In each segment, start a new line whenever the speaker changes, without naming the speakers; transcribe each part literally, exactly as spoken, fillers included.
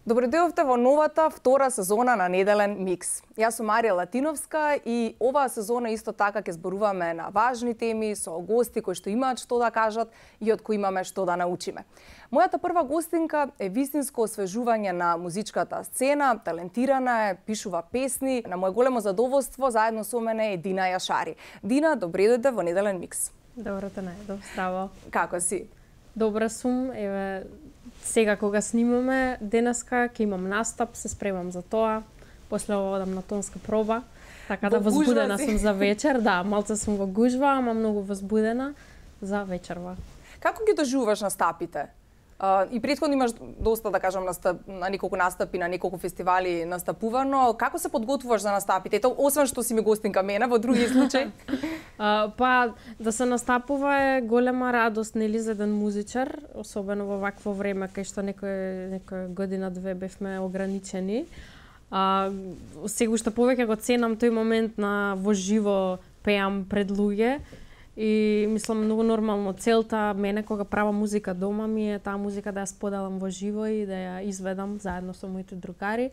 Добредојавте во новата втора сезона на Неделен микс. Јас сум Марија Латиновска и оваа сезона исто така ќе зборуваме на важни теми со гости кои што имаат што да кажат и од кои имаме што да научиме. Мојата прва гостинка е вистинско освежување на музичката сцена, талентирана е, пишува песни. На моје големо задоволство заедно со мене е Дина Јашари. Дина, добре дојде во Неделен микс.
Добро те најдов, здраво.
Како си?
Добра сум, еве сега кога снимаме денеска ќе имам настап, се спремам за тоа. После ова одам на тонска проба, така да возбудена сум за вечер, да, малце сум во гужва, ама многу возбудена за вечерва.
Како ги доживуваш настапите? Uh, и претходно имаш доста, да кажам, настап, на неколку настапи, на неколку фестивали настапувано. Како се подготвуваш за настапите? Ето, освен што си ми гостинка мене, во други случаи?
uh, па, да се настапува е голема радост, нели, за еден музичар, особено во вакво време, кај што некој, некој година-две бевме ограничени. Uh, сега уште повеќе го ценам тој момент на во живо пеам пред луѓе. И мислам многу нормално целта мене кога правам музика дома ми е таа музика да ја споделам во живо и да ја изведам заедно со моите другари.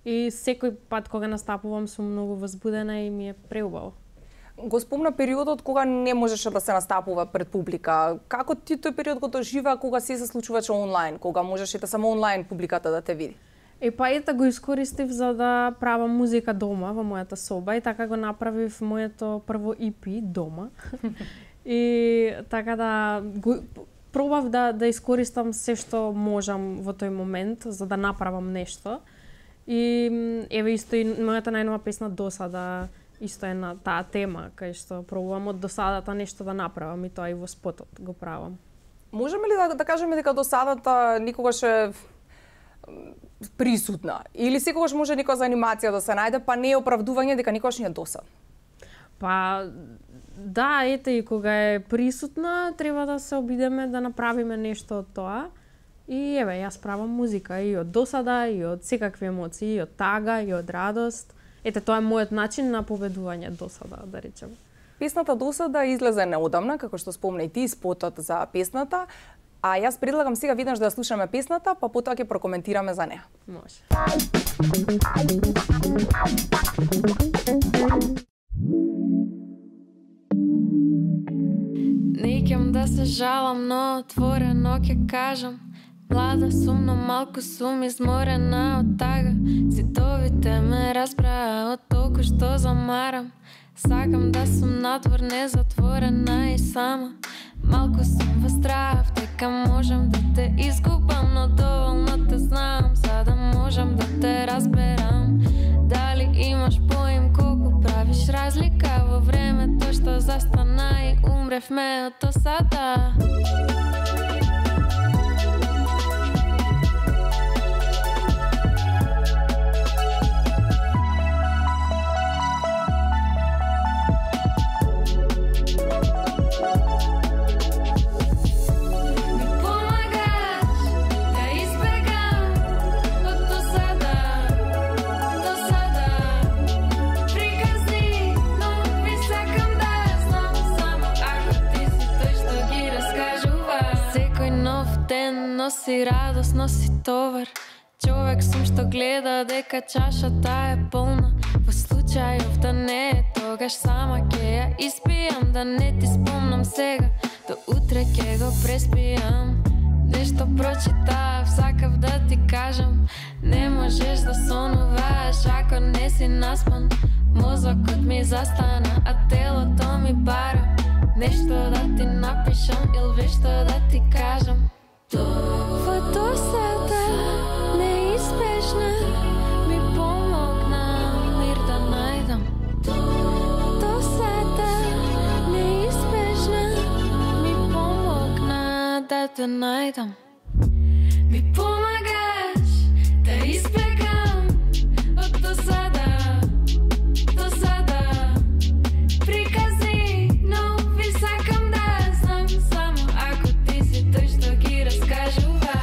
И секој пат кога настапувам сум многу возбудена и ми е преубаво.
Го спомна периодот кога не можеше да се настапува пред публика. Како ти тој период го доживеа кога се се случуваше онлайн, кога можеше да само онлайн публиката да те види?
Е, па ета го искористив за да правам музика дома во мојата соба и така го направив моето прво и пи дома. И така да го, пробав да да искористам се што можам во тој момент за да направам нешто. И еве исто и мојата најнова песна Досада исто е на таа тема кај што пробувам од досадата нешто да направам и тоа и во спотот го правам.
Можеме ли да, да кажеме дека досадата никогаш е присутна или секогаш може некоја за анимација да се најде, па не е оправдување дека никогаш не е досадна?
Па да, ете и кога е присутна, треба да се обидеме да направиме нешто од тоа. И еве, јас правам музика и од досада, и од секакви емоции, и од тага, и од радост. Ете, тоа е мојот начин на победување досада, да речем.
Песната Досада излезе неодамна, како што спомна и ти, спотот за песната. А јас предлагам сега виднаш да ја слушаме песната, па потоа ќе прокоментираме за неа.
Може.
Неќам да се жалам, но отворено ќе кажам. Млада сум, но малку сум изморена од тага. Зидовите ме разбраа од толку што замарам. Сакам да сум надвор незатворена и сама. Малку сум во страв, дека можам да те изгубам, но доволно те знам, за да можам да те разберам. Дали имаш поим колку правиш разлика во времето што застана и умревме од досада. Носи радост, носи товар. Човек сум што гледа дека чашата е полна. Во случајов да не е, тогаш сама ќе ја испијам. Да не ти спомнам сега, до утре ќе го преспијам. Нешто прочитав, сакав да ти кажам. Не можеш да сонуваш ако не си наспан. Мозокот ми застана, а телото ми бара. Нешто да ти напишам или вешто да ти кажам. Во досада неизбежна ми помогна мир да најдам. Досада неизбежна ми помогна да те најдам. Ми помагаш да избегам од досада, досада. Приказни, но ви сакам да знам само ако ти си тој што ги раскажува.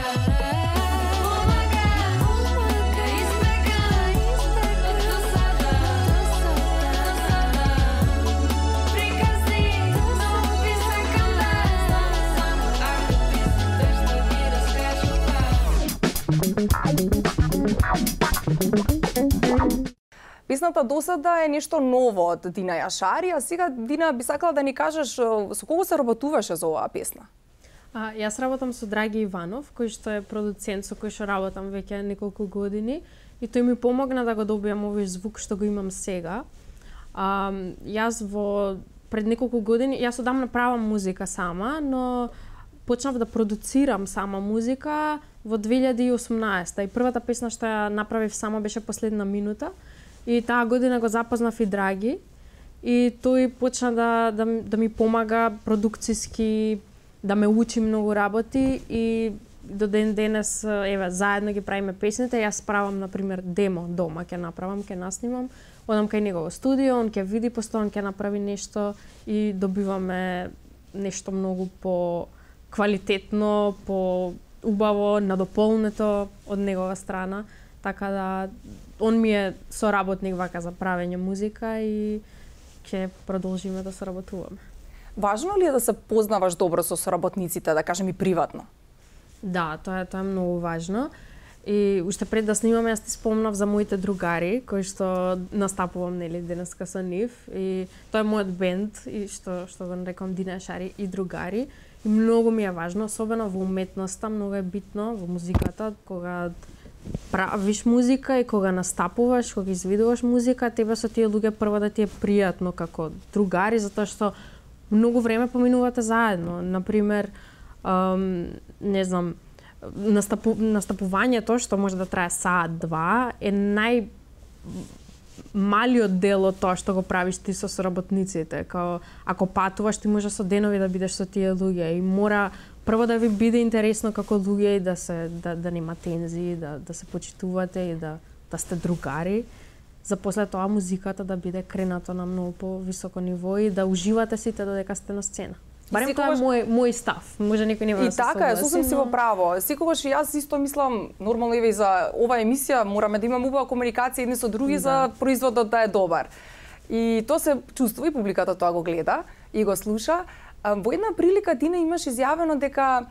Песната досада е нешто ново од Дина Јашари, а сега, Дина, би сакала да ни кажеш со кого се работуваше за оваа песна?
А, јас работам со Драги Иванов, кој што е продуцент со кој што работам веќе неколку години и тој ми помогна да го добиам овој звук што го имам сега. А, јас во пред неколку години, јас одамна правам музика сама, но почнав да продуцирам сама музика во две илјади и осумнаесета и првата песна што ја направив сама беше Последна минута и таа година го запознав и Драги и тој почна да, да, да ми помага продукциски, да ме учи многу работи и до ден денес еве заедно ги правиме песните. Јас правам на пример демо дома, ќе направам, ќе наснимам, одам кај него во студио, он ќе види постојано, ќе направи нешто и добиваме нешто многу по квалитетно, по убаво, надополнето од негова страна, така да он ми е соработник вака за правење музика и ќе продолжиме да соработуваме.
Важно ли е да се познаваш добро со соработниците, да кажем и приватно?
Да, тоа е, тоа е многу важно. И уште пред да снимаме, јас ти спомнав за моите другари, кои што настапувам нели денеска со нив и тоа е мојот бенд и што што го нарекам Дина Јашари и другари. И многу ми е важно, особено во уметноста, многу е битно во музиката, кога правиш музика и кога настапуваш, кога изведуваш музика, тебе со тие луѓе прво да ти е пријатно како другари, затоа што многу време поминувате заедно. Например, ам, не знам, настапу, настапувањето што може да трае саат-два е нај малиот дел од тоа што го правиш ти со соработниците. Као, ако патуваш, ти може со денови да бидеш со тие луѓе и мора прво да ви биде интересно како луѓе и да се да, да нема тензии, да да се почитувате и да да сте другари. За после тоа музиката да биде кренато на многу повисоко ниво и да уживате сите додека сте на сцена. Барем секогаш... тоа е мој мој став. Може некој не
да се согласи. И така е, сосем си во право. Секогаш и јас исто мислам, нормално еве и за оваа емисија мораме да имаме убава комуникација едни со други да. За производот да е добар. И тоа се чувствува и публиката тоа го гледа и го слуша. Во една прилика Дина имаш изјавено дека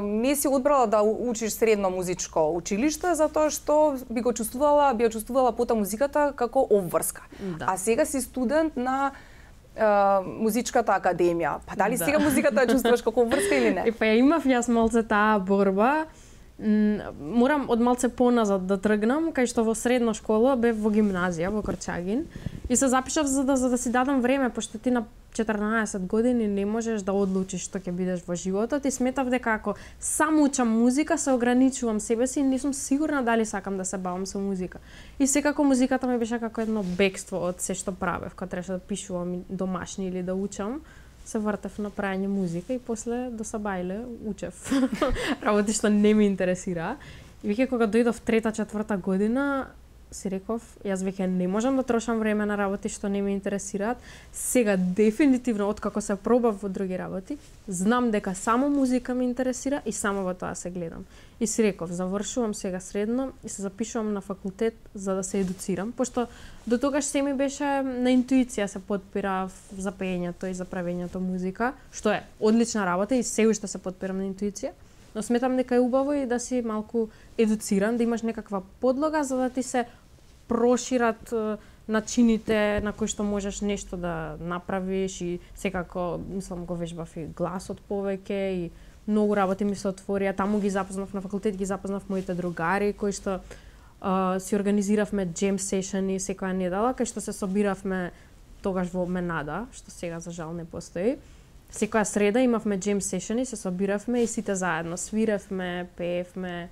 не си одбрала да учиш средно музичко училиште затоа што би го чувствувала, би ја чувствувала пота музиката како обврска. Да. А сега си студент на Uh, музичката академија. Па дали да. Сега музиката ја чувствуваш како врска или не?
И па ја имав јас малце таа борба. Морам од малце поназад да тргнам, кај што во средна школа бев во гимназија во Корчагин и се запишав за да за да си дадам време, пошто ти на четрнаесет години не можеш да одлучиш што ќе бидеш во животот и сметав дека ако само учам музика се ограничувам себе си и не сум сигурна дали сакам да се бавам со музика. И секако музиката ми беше како едно бегство од се што правев, кога требаше да пишувам домашни или да учам. Се вртев на прајање музика и после до Сабајле учев работи што не ми интересира. И веќе кога дојдов трета, четврта година, си реков, јас веќе не можам да трошам време на работи што не ме интересираат. Сега дефинитивно откако се пробав во други работи, знам дека само музика ме интересира и само во тоа се гледам. И си реков, завршувам сега средно и се запишувам на факултет за да се едуцирам, пошто до тогаш се ми беше на интуиција се подпирав за пеењето и за правењето музика, што е одлична работа и се уште се подпирам на интуиција. Но сметам дека е убаво и да си малку едуциран, да имаш некаква подлога за да ти се прошират начините на кои што можеш нешто да направиш и секако, мислам, го вежбав и гласот повеќе и многу работи ми се отворија. Таму ги запознав на факултет, ги запознав моите другари кои што uh, си организиравме джем сешени секоја недела, кај што се собиравме тогаш во Менада, што сега за жал не постои. Секоја среда имавме джем сешени, се собиравме и сите заедно свиревме, пеевме.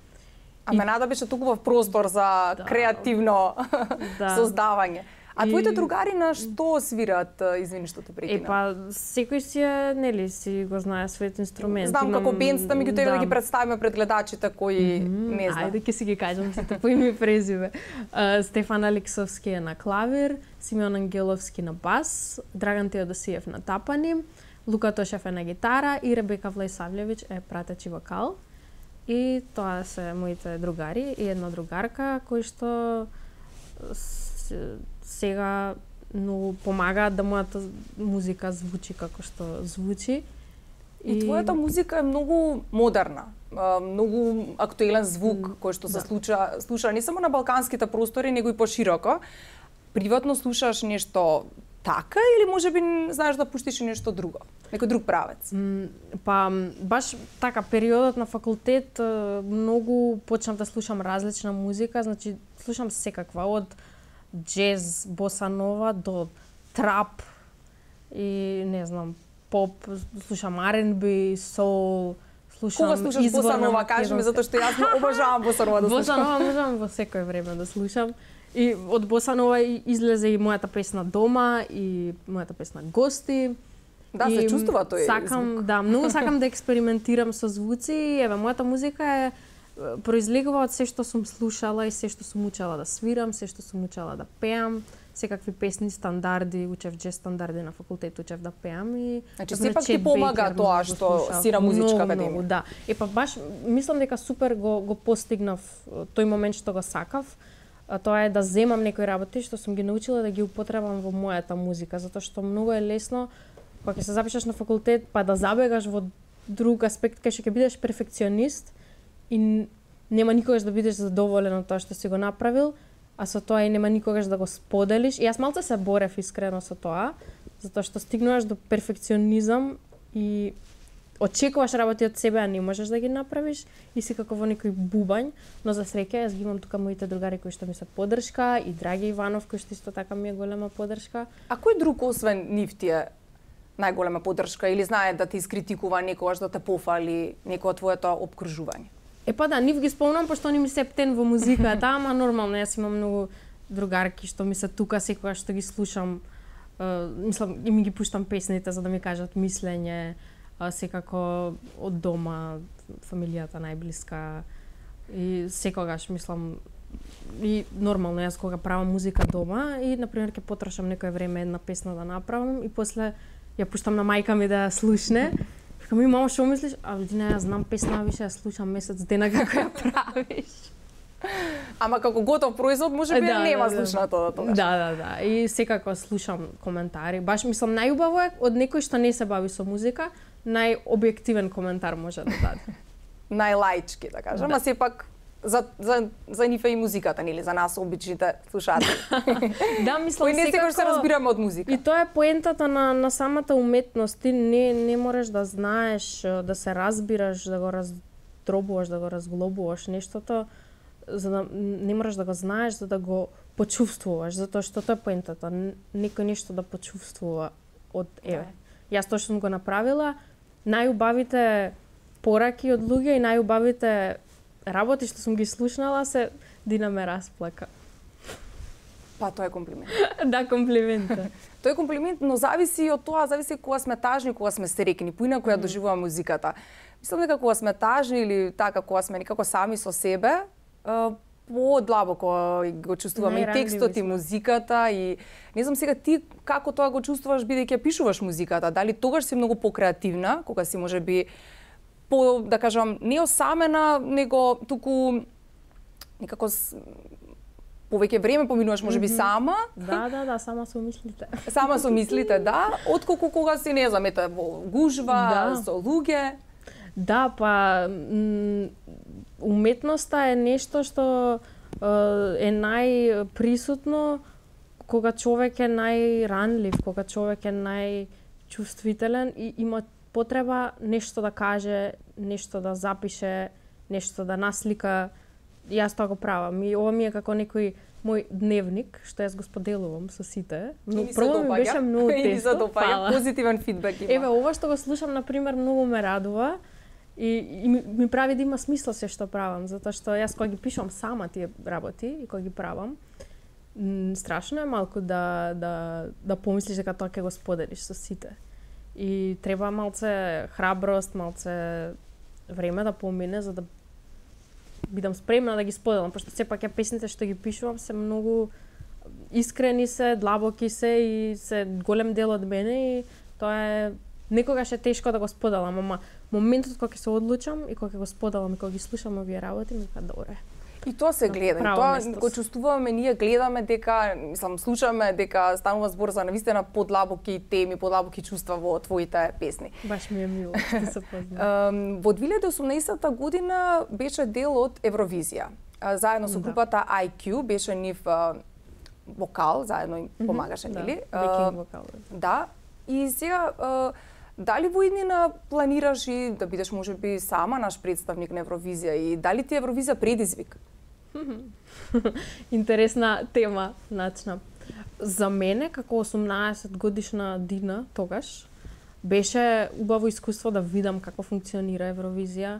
А и... Менада беше туку простор за да. Креативно да. Создавање. А и... твоите другари на што свират, извини што те прекинав?
Е па секој си е, нели, си го знае својот инструмент.
Знам Имам... како бендста, меѓутоа да. Да ги представиме пред гледачите кои mm -hmm. не знаат.
Ајде ќе си ги кажам сите по име и презиме. Uh, Стефан Алексовски е на клавир, Симеон Ангеловски на бас, Драган Теодосиев на тапани, Лука Тошев е на гитара и Ребека Влајсављевиќ е пратечи вокал. И тоа се моите другари и една другарка кои што сега многу помагаат да мојата музика звучи како што звучи.
И, и твојата музика е многу модерна. многу актуелен звук mm, кој што се да. случа слуша не само на балканските простори, него и пошироко. Приватно слушаш нешто така или можеби знаеш да пуштиш и нешто друго, некој друг правец?
Mm, па баш така периодот на факултет многу почнав да слушам различна музика, значи слушам секаква од джез, боса нова до трап и не знам, поп, слушам ар енд би, соул, слушам
Кога слушаш боса нова, кажи ми, затоа што јас обожавам боса нова да слушам.
Боса нова можам во секој време да слушам. И од боса нова излезе и мојата песна Дома и мојата песна Гости.
Да, и се чувствува тој
сакам,
звук.
Да, многу сакам да експериментирам со звуци. Еве, мојата музика е произлегува од се што сум слушала и се што сум учела да свирам, се што сум учела да пеам, секакви песни, стандарди, учев джез стандарди на факултет, учев да пеам и
значи сепак ти помага тоа што си на музичка академија.
Да. Е па баш мислам дека супер го го постигнав тој момент што го сакав. А тоа е да земам некои работи што сум ги научила да ги употребам во мојата музика, затоа што многу е лесно кога ќе се запишеш на факултет па да забегаш во друг аспект кај што ќе бидеш перфекционист и нема никогаш да бидеш задоволен од тоа што си го направил, а со тоа и нема никогаш да го споделиш. И јас малце се борев искрено со тоа, затоа што стигнуваш до перфекционизам и очекуваш работи од себе, а не можеш да ги направиш и си како во некој бубањ, но за среќа јас ги имам тука моите другари кои што ми се поддршка и Драги Иванов кој што исто така ми е голема поддршка.
А кој друг освен нив ти е најголема поддршка или знае да те искритикува некогаш, да те пофали некој од твоето опкружување?
Е па да, нив ги спомнам пошто они ми се птен во музиката, ама нормално јас имам многу другарки што ми се тука секогаш што ги слушам, uh, мислам и ми ги пуштам песните за да ми кажат мислење, uh, секако од дома, фамилијата најблиска и секогаш мислам и нормално јас кога правам музика дома и на пример ќе потрошам некое време една песна да направам и после ја пуштам на мајка ми да ја слушне. Викам ми, мамо, што мислиш? А, Лудина, јас знам песна, више ја слушам месец дена како ја правиш.
Ама како готов производ, може би
да,
нема
да,
слушнато да тогаш.
Да, да, да. И секако слушам коментари. Баш мислам најубаво е од некој што не се бави со музика, најобјективен коментар може да даде.
Најлаички, да кажам,
да.
а сепак за за за нив е и музиката, нели, за нас обичните слушатели.
Да, мислам
кои не секогаш се разбираме од музика.
И тоа е поентата на на самата уметност. Ти не не можеш да знаеш, да се разбираш, да го раздробуваш, да го разглобуваш нештото, за да не можеш да го знаеш, за да го почувствуваш, затоа што тоа е поентата. Некој нешто да почувствува од еве. Јас тоа што сум го направила, најубавите пораки од луѓе и најубавите работи што сум ги слушнала се Дина ме расплака.
Па тоа е комплимент.
Да, комплимент.
Тоа е комплимент, но зависи од тоа, зависи кога сме тажни, кога сме срекни, поинаку ја доживуваме музиката. Мислам дека кога сме тажни или така кога сме некако сами со себе, подлабоко го чувствуваме и текстот и музиката и не знам сега ти како тоа го чувствуваш бидејќи пишуваш музиката, дали тогаш си многу покреативна, кога си можеби по, да кажам, не осамена, него туку некако повеќе време поминуваш можеби mm-hmm. сама.
Да, да, да, сама со мислите.
Сама со мислите, да, отколку кога си не знам, ете во гужва, да. Со луѓе.
Да, па уметноста е нешто што е најприсутно кога човек е најранлив, кога човек е најчувствителен и има потреба нешто да каже, нешто да запише, нешто да наслика. Јас тоа го правам. И ова ми е како некој мој дневник, што јас го споделувам со сите. Но прво ми беше многу тешко.
И се допаѓа, позитивен фидбек има.
Еве, ова што го слушам, например, многу ме радува и, и ми, ми прави да има смисла се што правам, затоа што јас кога ги пишувам сама тие работи и кога ги правам, страшно е малку да да да помислиш дека тоа ќе го споделиш со сите. И треба малце храброст, малце време да помине за да бидам спремна да ги споделам, пошто сепак ја песните што ги пишувам се многу искрени се, длабоки се и се голем дел од мене и тоа е некогаш е тешко да го споделам, ама моментот кога ќе се одлучам и кога ќе го споделам и кога ги слушам овие работи ми кажа добре.
И тоа се гледа, и тоа го чувствуваме, ние гледаме дека, мислам, слушаме дека станува збор за навистина подлабоки теми, подлабоки чувства во твоите песни.
Баш ми е мило, што се познава.
Во две илјади и осумнаесетта година беше дел од Евровизија. Заедно со групата I Q беше нив вокал, заедно им помагаше, нели?
Да, вокал.
Да, и сега дали во иднина планираш и да бидеш можеби сама наш представник на Евровизија и дали ти Евровизија предизвик?
Интересна тема, начна. За мене, како осумнаесет годишна Дина тогаш, беше убаво искуство да видам како функционира Евровизија,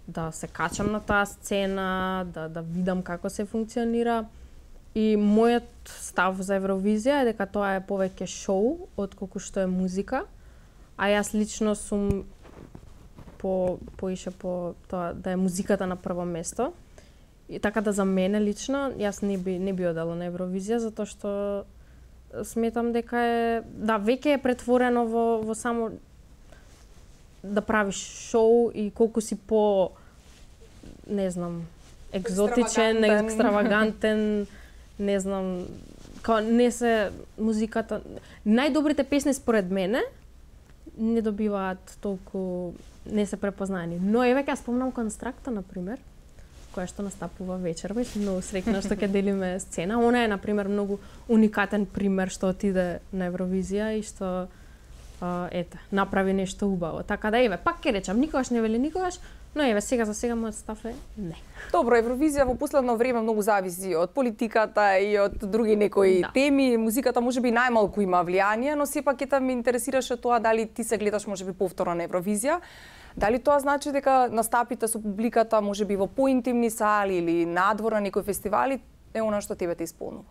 да се качам на таа сцена, да, да видам како се функционира. И мојот став за Евровизија е дека тоа е повеќе шоу, отколку што е музика. А јас лично сум по поише по тоа да е музиката на прво место. И така да за мене лично јас не би не би одела на Евровизија затоа што сметам дека е да веќе е претворено во во само да правиш шоу и колку си по не знам екзотичен, екстравагантен, екстравагантен не знам, као не се музиката. Најдобрите песни според мене не добиваат толку, не се препознаени. Но еве ќе спомнам Констракта на пример, која што настапува вечерва и сум многу среќна што ќе делиме сцена. Она е на пример многу уникатен пример што отиде на Евровизија и што а, ете, направи нешто убаво. Така да еве, пак ќе речам, никогаш не вели никогаш, но еве сега за сега мојот став е не.
Добро, Евровизија во последно време многу зависи од политиката и од други некои да. теми. Музиката можеби најмалку има влијание, но сепак ќе ме интересираше тоа дали ти се гледаш можеби повторно на Евровизија. Дали тоа значи дека настапите со публиката можеби во поинтимни сали или надвор на некои фестивали е она што тебе те исполнува?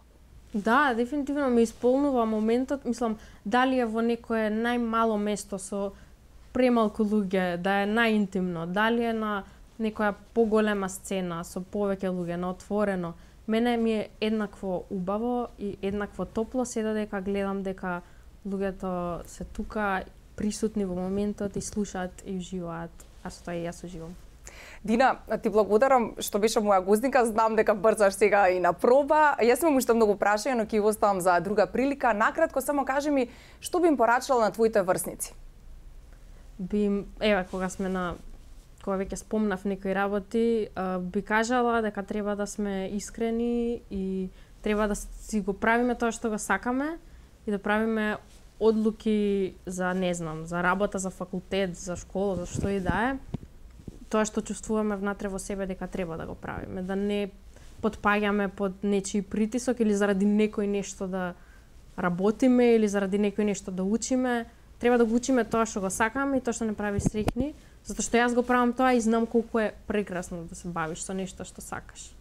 Да, дефинитивно ме исполнува моментот, мислам, дали е во некое најмало место со премалку луѓе, да е најинтимно, дали е на некоја поголема сцена со повеќе луѓе, на отворено. Мене ми е еднакво убаво и еднакво топло се додека гледам дека луѓето се тука присутни во моментот и слушаат и уживаат, а со тоа и јас уживам.
Дина, ти благодарам што беше моја гозника, знам дека брзаш сега и на проба. Јас имам уште многу прашања, но ќе го оставам за друга прилика. Накратко само кажи ми што би им порачала на твоите врсници?
Би им, еве кога сме на кога веќе спомнав некои работи, би кажала дека треба да сме искрени и треба да си го правиме тоа што го сакаме и да правиме одлуки за, не знам, за работа, за факултет, за школа, за што и да е, тоа што чувствуваме внатре во себе дека треба да го правиме, да не потпаѓаме под нечии притисок или заради некој нешто да работиме или заради некој нешто да учиме. Треба да го учиме тоа што го сакаме и тоа што не прави среќни, затоа што јас го правам тоа и знам колку е прекрасно да се бавиш со нешто што сакаш.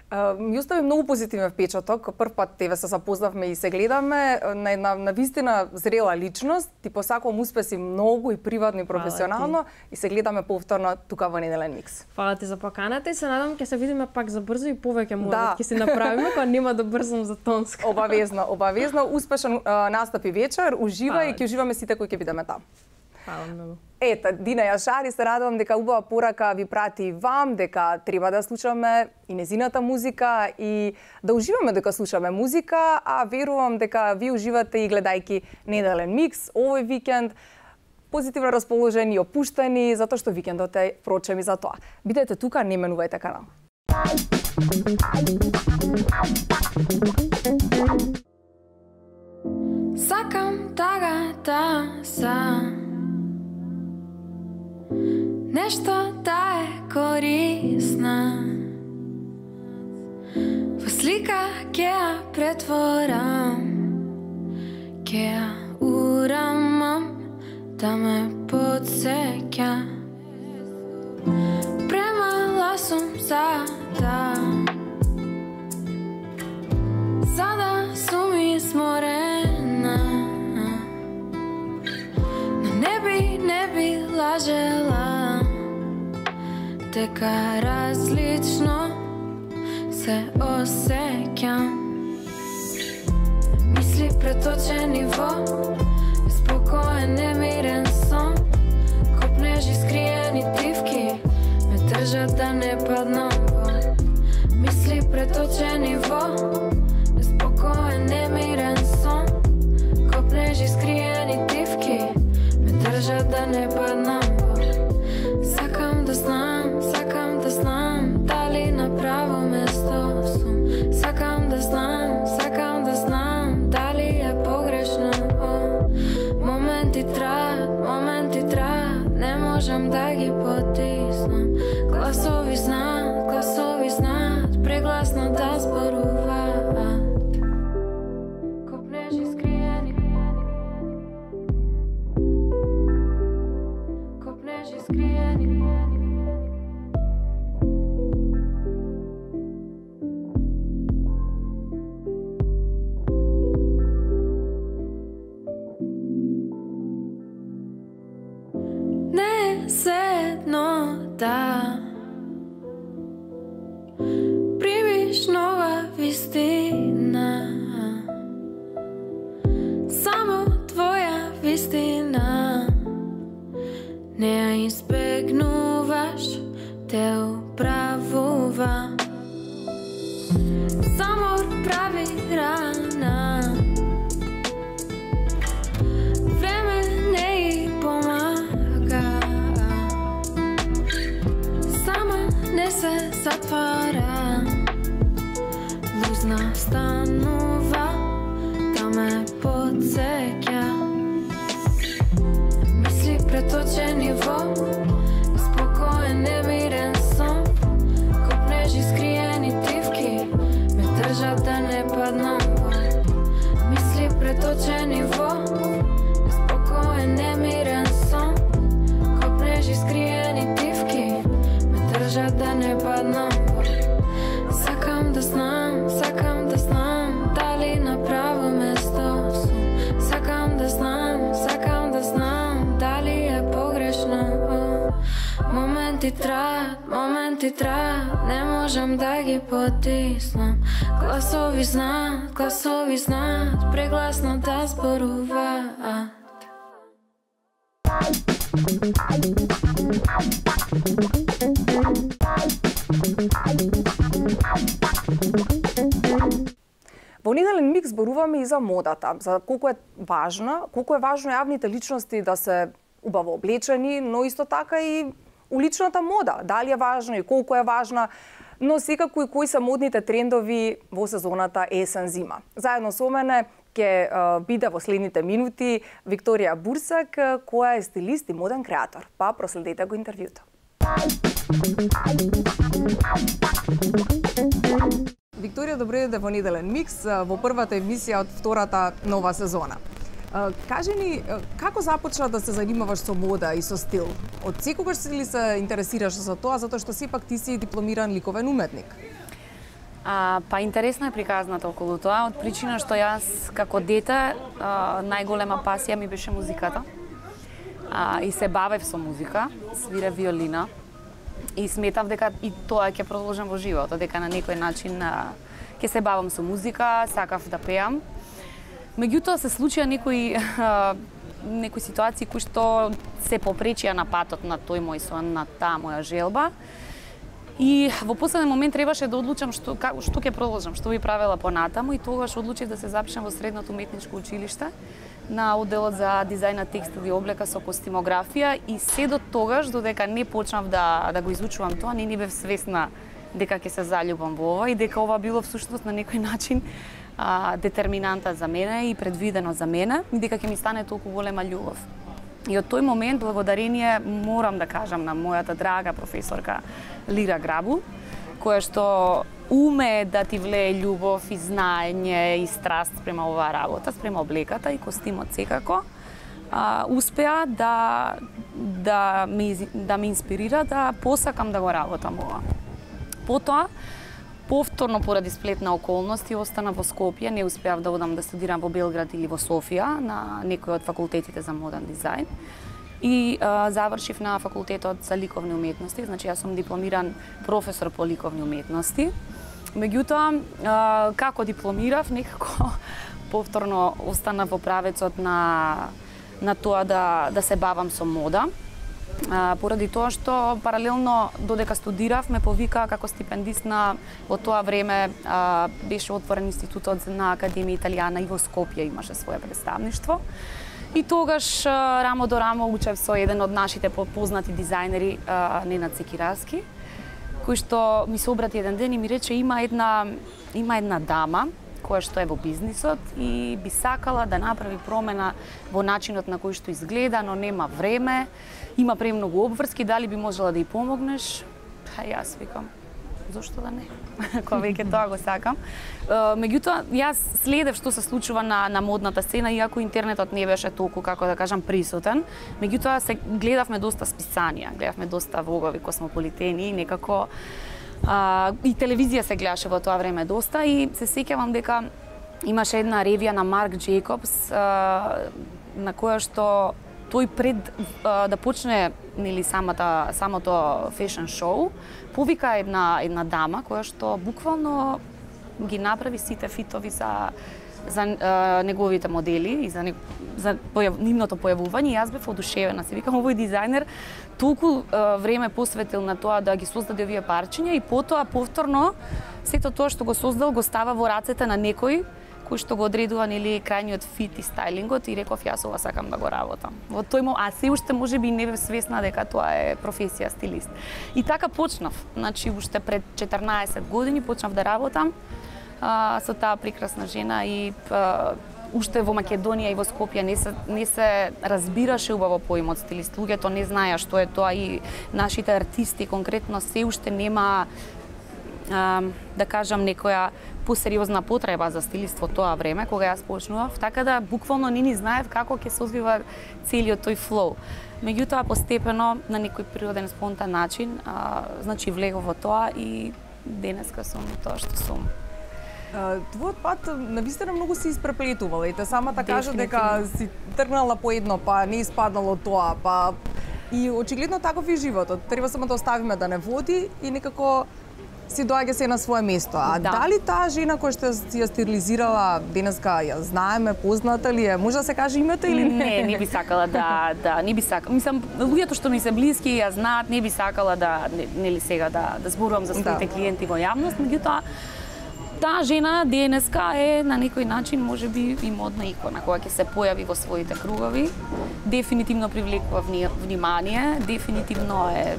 Uh, ми остави многу позитивен впечаток. Прв пат тебе се запознавме и се гледаме на една навистина зрела личност. Ти посакувам успеси многу и приватно и професионално и се гледаме повторно тука во Неделен микс.
Фала ти за поканата и се надам ќе се видиме пак за брзо и повеќе можат ќе се направиме кога нема да брзам за тонска.
Обавезно, обавезно, успешен uh, настап и вечер. Уживај и ќе уживаме сите кои ќе бидеме таму.
Фала многу.
Ета, Дина Јашари, се радувам дека убава порака ви прати и вам, дека треба да слушаме и незината музика и да уживаме дека слушаме музика, а верувам дека ви уживате и гледајки Неделен микс овој викенд. Позитивно расположени и опуштени, затоа што викендот е впрочем и за тоа. Бидете тука, не менувајте канал.
Сакам тагата сам нешто да е корисна. Во слика ќе ја претворам, ќе ја урамам, да ме подсеќа. Премала сум за да, за да сум изморена, но не би, не би лажела дека различно се осеќам. Мисли преточени во спокоен, немирен сон, копнежи скриени дивки ме држат да не паднам во преточени во беспокоен, немирен сон. Копнежи скриени дивки ме држат да не паднам во. Сакам да знам, сакам да знам дали на право место сум. Сакам да знам, сакам да знам дали е погрешно. Моменти траат, моменти траат, не можам да ги потиснам. Гласови знаат, гласови знаат, прегласно да зборуваат. Копнежи скриени, копнежи скриени. Не се едно да примиш нова вистина, само твоја вистина. Не ја избегнуваш, те управува. Замор прави рана, време не и помага. Сама не се затвара, лузна станува да ме подсеќа. Мисли преточени во спокоен, немирен сон. Копнежи скриени дивки ме држат да не паднам во. Мисли преточени во спокоен, немирен сон. Копнежи скриени дивки ме држат да не паднам во. Сакам да знам, сакам да знам дали на право место сум. Сакам да знам, сакам да знам дали е погрешно. Моменти траат, моменти траат, не можам да ги потиснам. Гласови знаат, гласови знаат, прегласно да зборуваат.
Во неделен микс зборуваме и за модата, за колку е важна, колку е важно јавните личности да се убаво облечени, но исто така и уличната мода, дали е важна и колку е важна, но секако и кои се модните трендови во сезоната есен-зима. Заедно со мене ќе биде во следните минути Викторија Бурсак, која е стилист и моден креатор. Па проследете го интервјуто. Викторија, добро дојде во неделен микс, во првата емисија од втората нова сезона. Кажи ни, како започна да се занимаваш со мода и со стил? Од секогаш ли се интересираш за тоа, затоа што сепак ти си дипломиран ликовен уметник?
А, па интересна е приказната околу тоа, од причина што јас како дете а, најголема пасија ми беше музиката. А, и се бавев со музика, свирев виолина и сметав дека и тоа ќе продолжам во животот, дека на некој начин а, ќе се бавам со музика, сакав да пеам. Меѓутоа се случија некои а, некои ситуации кои што се попречија на патот на тој мој сон, на таа моја желба. И во последен момент требаше да одлучам што што ќе продолжам, што би правела понатаму, и тогаш одлучив да се запишам во средното уметничко училиште на одделот за дизајн на текстил и облека со костимографија, и се до тогаш додека не почнав да да го изучувам тоа, не ни бев свесна дека ќе се заљубам во ова и дека ова било всушност на некој начин а, детерминанта за мене и предвидено за мене, и дека ќе ми стане толку голема љубов. И од тој момент, благодарение, морам да кажам на мојата драга професорка Лира Грабу, која што уме да ти влее љубов и знаење и страст спрема оваа работа, спрема облеката и костимот секако, а, успеа да да ме да ме инспирира да посакам да го работам ова. Потоа, повторно поради сплет на околности остана во Скопје, не успеав да одам да студирам во Белград или во Софија на некој од факултетите за моден дизајн. И а, завршив на факултетот за ликовни уметности, значи јас сум дипломиран професор по ликовни уметности. Меѓутоа, а, како дипломирав, некако повторно останав во правецот на на тоа да да се бавам со мода. А, поради тоа што паралелно додека студирав ме повика како стипендист на во тоа време а, беше отворен институтот на Академија Италијана и во Скопје имаше свое представништво. И тогаш а, рамо до рамо учев со еден од нашите познати дизајнери, а, Ненад Секираски, кој што ми се обрати еден ден и ми рече има една има една дама која што е во бизнисот и би сакала да направи промена во начинот на кој што изгледа, но нема време, има премногу обврски, дали би можела да ја помогнеш? Па јас викам, зошто да не? Кога веќе тоа го сакам. Меѓутоа, јас следев што се случува на, на модната сцена, иако интернетот не беше толку, како да кажам, присутен. Меѓутоа, се гледавме доста списанија, гледавме доста влогови, космополитени и некако А, и телевизија се гледаше во тоа време доста и се сеќавам дека имаше една ревија на Марк Джейкобс а, на која што тој пред а, да почне нели самата самото фешн шоу повика една една дама која што буквално ги направи сите фитови за за а, неговите модели и за не, за појав, нивното појавување. Јас бев одушевена, се викам овој дизајнер толку а, време посветил на тоа да ги создаде овие парчиња и потоа повторно сето тоа што го создал го става во рацете на некој кој што го одредува нели крајниот фит и стајлингот и реков јас ова сакам да го работам. Во тој момент, а се уште можеби не бев свесна дека тоа е професија стилист. И така почнав. Значи уште пред четрнаесет години почнав да работам а, со таа прекрасна жена и а, уште во Македонија и во Скопје не се не се разбираше убаво поимот стилист. Луѓето не знаеа што е тоа и нашите артисти конкретно се уште нема а, да кажам некоја посериозна потреба за стилист во тоа време кога јас почнував, така да буквално не ни знаев како ќе се одвива целиот тој флоу. Меѓутоа постепено на некој природен спонтан начин, а, значи влегов во тоа и денеска сум тоа што сум.
Твојот пат навистина многу се испреплетувала и те самата кажа дека си тргнала по едно, па не испаднало тоа, па и очигледно таков и животот. Треба само да оставиме да не води и некако си доаѓа се на свое место. А да. Дали таа жена која што си ја стилизирала денеска ја знаеме, позната ли е? Може да се каже името или не?
Не, не би сакала да, да, не би сакала. Мислам, луѓето што ми се блиски ја знаат, не би сакала да нели сега да да зборувам за своите да. клиенти во јавност, меѓутоа таа жена денеска е на некој начин можеби и модна икона која ќе се појави во своите кругови. Дефинитивно привлекува внимание, дефинитивно е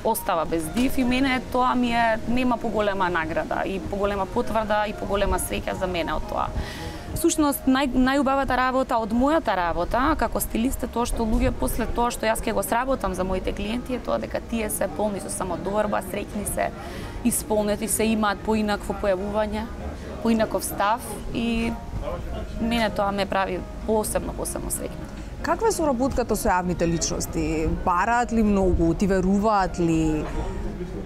остава без див и мене тоа ми е нема поголема награда и поголема потврда и поголема среќа за мене од тоа. Всушност нај најубавата работа од мојата работа како стилист е тоа што луѓе после тоа што јас ќе го сработам за моите клиенти е тоа дека тие се полни со самодоверба, среќни се, исполнети се, имаат поинакво појавување, поинаков став и мене тоа ме прави посебно посебно среќна.
Каква е соработката со јавните личности? Бараат ли многу? Ти веруваат ли?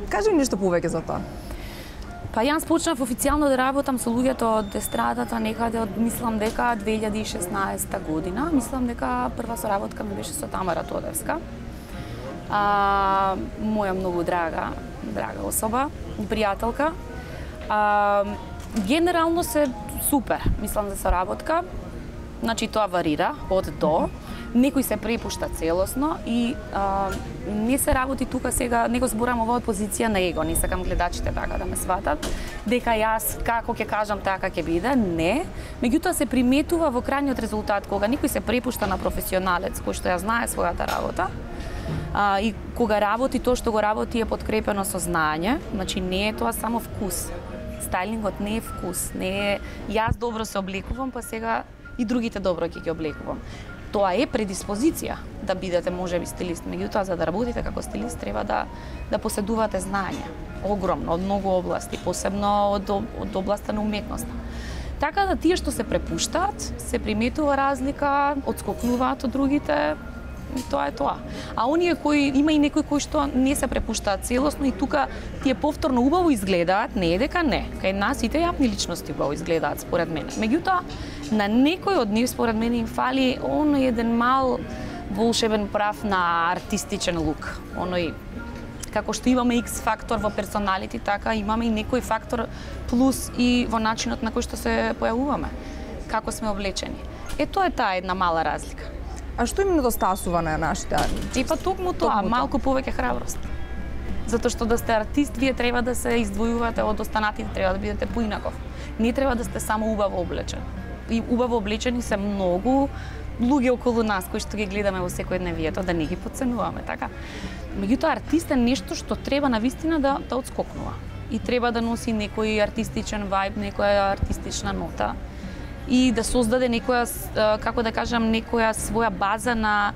Кажи ми нешто повеќе за тоа.
Па јас почнав официјално да работам со луѓето од естрадата некаде од мислам дека две илјади и шеснаесета година. Мислам дека прва соработка ми беше со Тамара Тодевска. А, моја многу драга, драга особа и пријателка. А, генерално се супер, мислам за соработка. Значи тоа варира од до. Некој се препушта целосно и а, не се работи тука сега, не го зборам ова од позиција на его, не сакам гледачите така да ме сватат, дека јас како ќе кажам така ќе биде, не. Меѓутоа се приметува во крајниот резултат кога некој се препушта на професионалец кој што ја знае својата работа. А, и кога работи тоа што го работи е подкрепено со знаење, значи не е тоа само вкус. Стајлингот не е вкус, не е јас добро се облекувам, па сега и другите добро ќе ги облекувам. Тоа е предиспозиција да бидете можеби стилист, меѓутоа за да работите како стилист треба да да поседувате знаење, огромно од многу области, посебно од од областа на уметноста. Така да тие што се препуштаат, се приметува разлика, отскокнуваат од другите, и тоа е тоа. А оние кои има и некои кои што не се препуштаат целосно и тука тие повторно убаво изгледаат, не е дека не. Кај нас сите јавни личности убаво изгледаат според мене. Меѓутоа на некој од нив според мене им фали оној еден мал волшебен прав на артистичен лук. Оној како што имаме X фактор во персоналити, така имаме и некој фактор плюс и во начинот на кој што се појавуваме, како сме облечени. Е тоа е таа една мала разлика.
А што им недостасува на нашите?
И па токму тоа, малку повеќе храброст. Затоа што да сте артист, вие треба да се издвојувате од останатите, треба да бидете поинаков. Не треба да сте само убаво облечен. И убаво облечени се многу луѓе околу нас кои што ги гледаме во секојдневието, да не ги подценуваме, така. Меѓутоа артист е нешто што треба навистина да да отскокнува. И треба да носи некој артистичен вајб, некоја артистична нота и да создаде некоја, како да кажам, некоја своја база на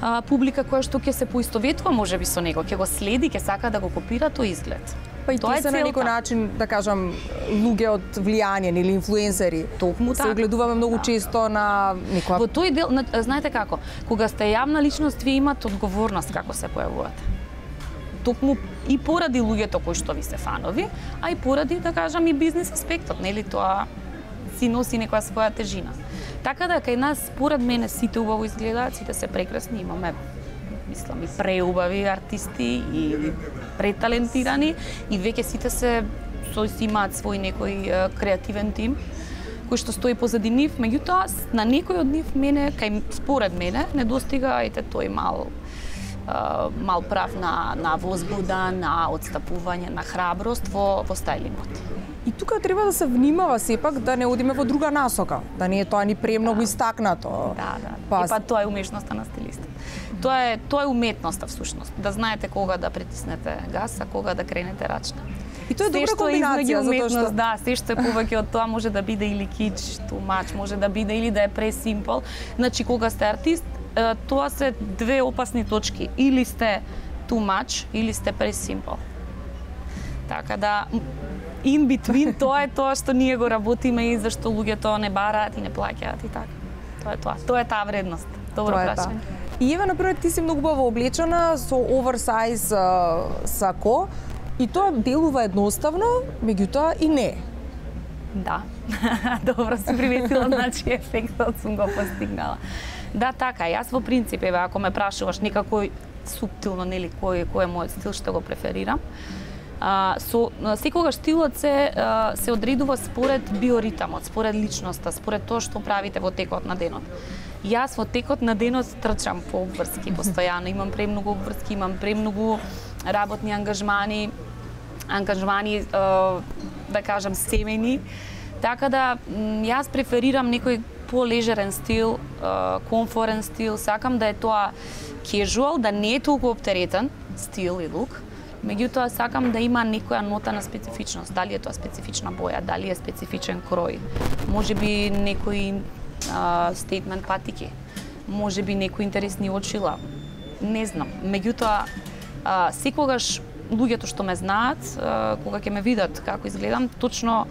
а, публика која што ќе се поистоветува можеби со него, ќе го следи, ќе сака да го копира тој изглед.
Па и тоа се на некој начин, да кажам, луѓе од влијание или инфлуенсери.
Токму така.
Се огледуваме многу
да.
често на некоја...
Во тој дел, знаете како, кога сте јавна личност, ви имате одговорност како се појавувате. Токму и поради луѓето кои што ви се фанови, а и поради, да кажам, и бизнес аспектот, нели, тоа си носи некоја своја тежина. Така да, кај нас, според мене, сите убаво изгледаат, сите се прекрасни, имаме, мислам, и преубави артисти, и преталентирани, и веќе сите се, со имаат свој некој креативен тим, кој што стои позади нив, меѓутоа, на некој од нив, мене, кај, според мене, не достига, ете, тој мал, мал прав на, на возбуда, на отстапување, на храброст во, во стајлингот.
И тука треба да се внимава сепак да не одиме во друга насока, да не е тоа ни премногу да. Истакнато.
Да, да. Па... И па тоа е умешноста на стилистот. Тоа е тоа е уметноста всушност, да знаете кога да притиснете газ, а кога да кренете рачна.
И тоа е добра комбинација,
затоа
што
да, се што е повеќе од тоа може да биде или кич, too much, може да биде или да е pre-simple. Значи кога сте артист, тоа се две опасни точки. Или сте too much, или сте pre-simple. Така да in between тоа е тоа што ние го работиме и зашто луѓето не бараат и не плаќаат и така. Тоа е тоа. Тоа е таа вредност. Добро прашање.
И ева, например, ти си многу убаво облечена со оверсайз сако и тоа делува едноставно, меѓутоа и не.
Да. Добро си приметила, значи ефектот сум го постигнала. Да, така, јас во принцип, еве, ако ме прашуваш некако суптилно, нели, кој, кој е мојот стил, што го преферирам, А, со секогаш стилот се а, се одредува според биоритамот, според личноста, според тоа што правите во текот на денот. Јас во текот на денот трчам по обврски постојано, имам премногу обврски, имам премногу работни ангажмани, ангажмани а, да кажам семејни. Така да јас преферирам некој полежерен стил, а, комфорен стил, сакам да е тоа casual, да не е толку оптеретен стил и лук. Меѓутоа сакам да има некоја нота на специфичност, дали е тоа специфична боја, дали е специфичен крој, можеби некој стейтмент патики, можеби некои интересни очила, не знам. Меѓутоа а, секогаш луѓето што ме знаат, а, кога ќе ме видат како изгледам, точно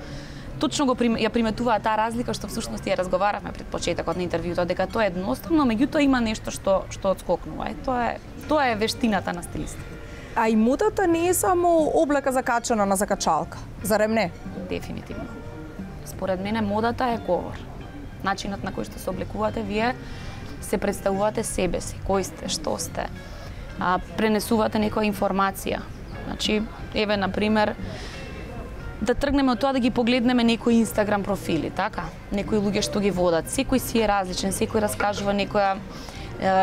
точно го прим, ја приметуваат таа разлика што всушност ја разговаравме пред почетокот на интервјуто, дека тоа е едноставно, меѓутоа има нешто што што отскокнува. Е, тоа е тоа е вештината на стилистот.
А и модата не е само облека закачана на закачалка, зарем не?
Дефинитивно. Според мене модата е говор. Начинот на кој што се облекувате, вие се представувате себе си, кој сте, што сте. А, пренесувате некоја информација. Значи, еве, на пример, да тргнеме од тоа да ги погледнеме некои Инстаграм профили, така? Некои луѓе што ги водат. Секој си е различен, секој раскажува некоја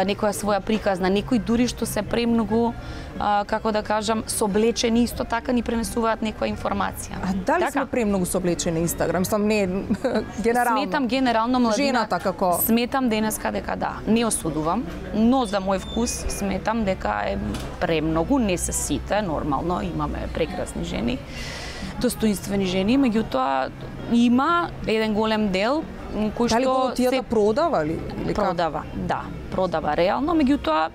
некоја своја приказна, некои дури што се премногу, а, како да кажам, соблечени, исто така ни пренесуваат некоја информација.
А дали така? Сме премногу соблечени на Инстаграм? Сам не генерално.
Сметам генерално младина.
Жената како?
Сметам денеска дека да, не осудувам, но за мој вкус сметам дека е премногу, не се сите, нормално, имаме прекрасни жени, достоинствени жени, меѓутоа има еден голем дел кој што
дали култијата се продава ли? Или
продава, как? Да, продава реално, меѓутоа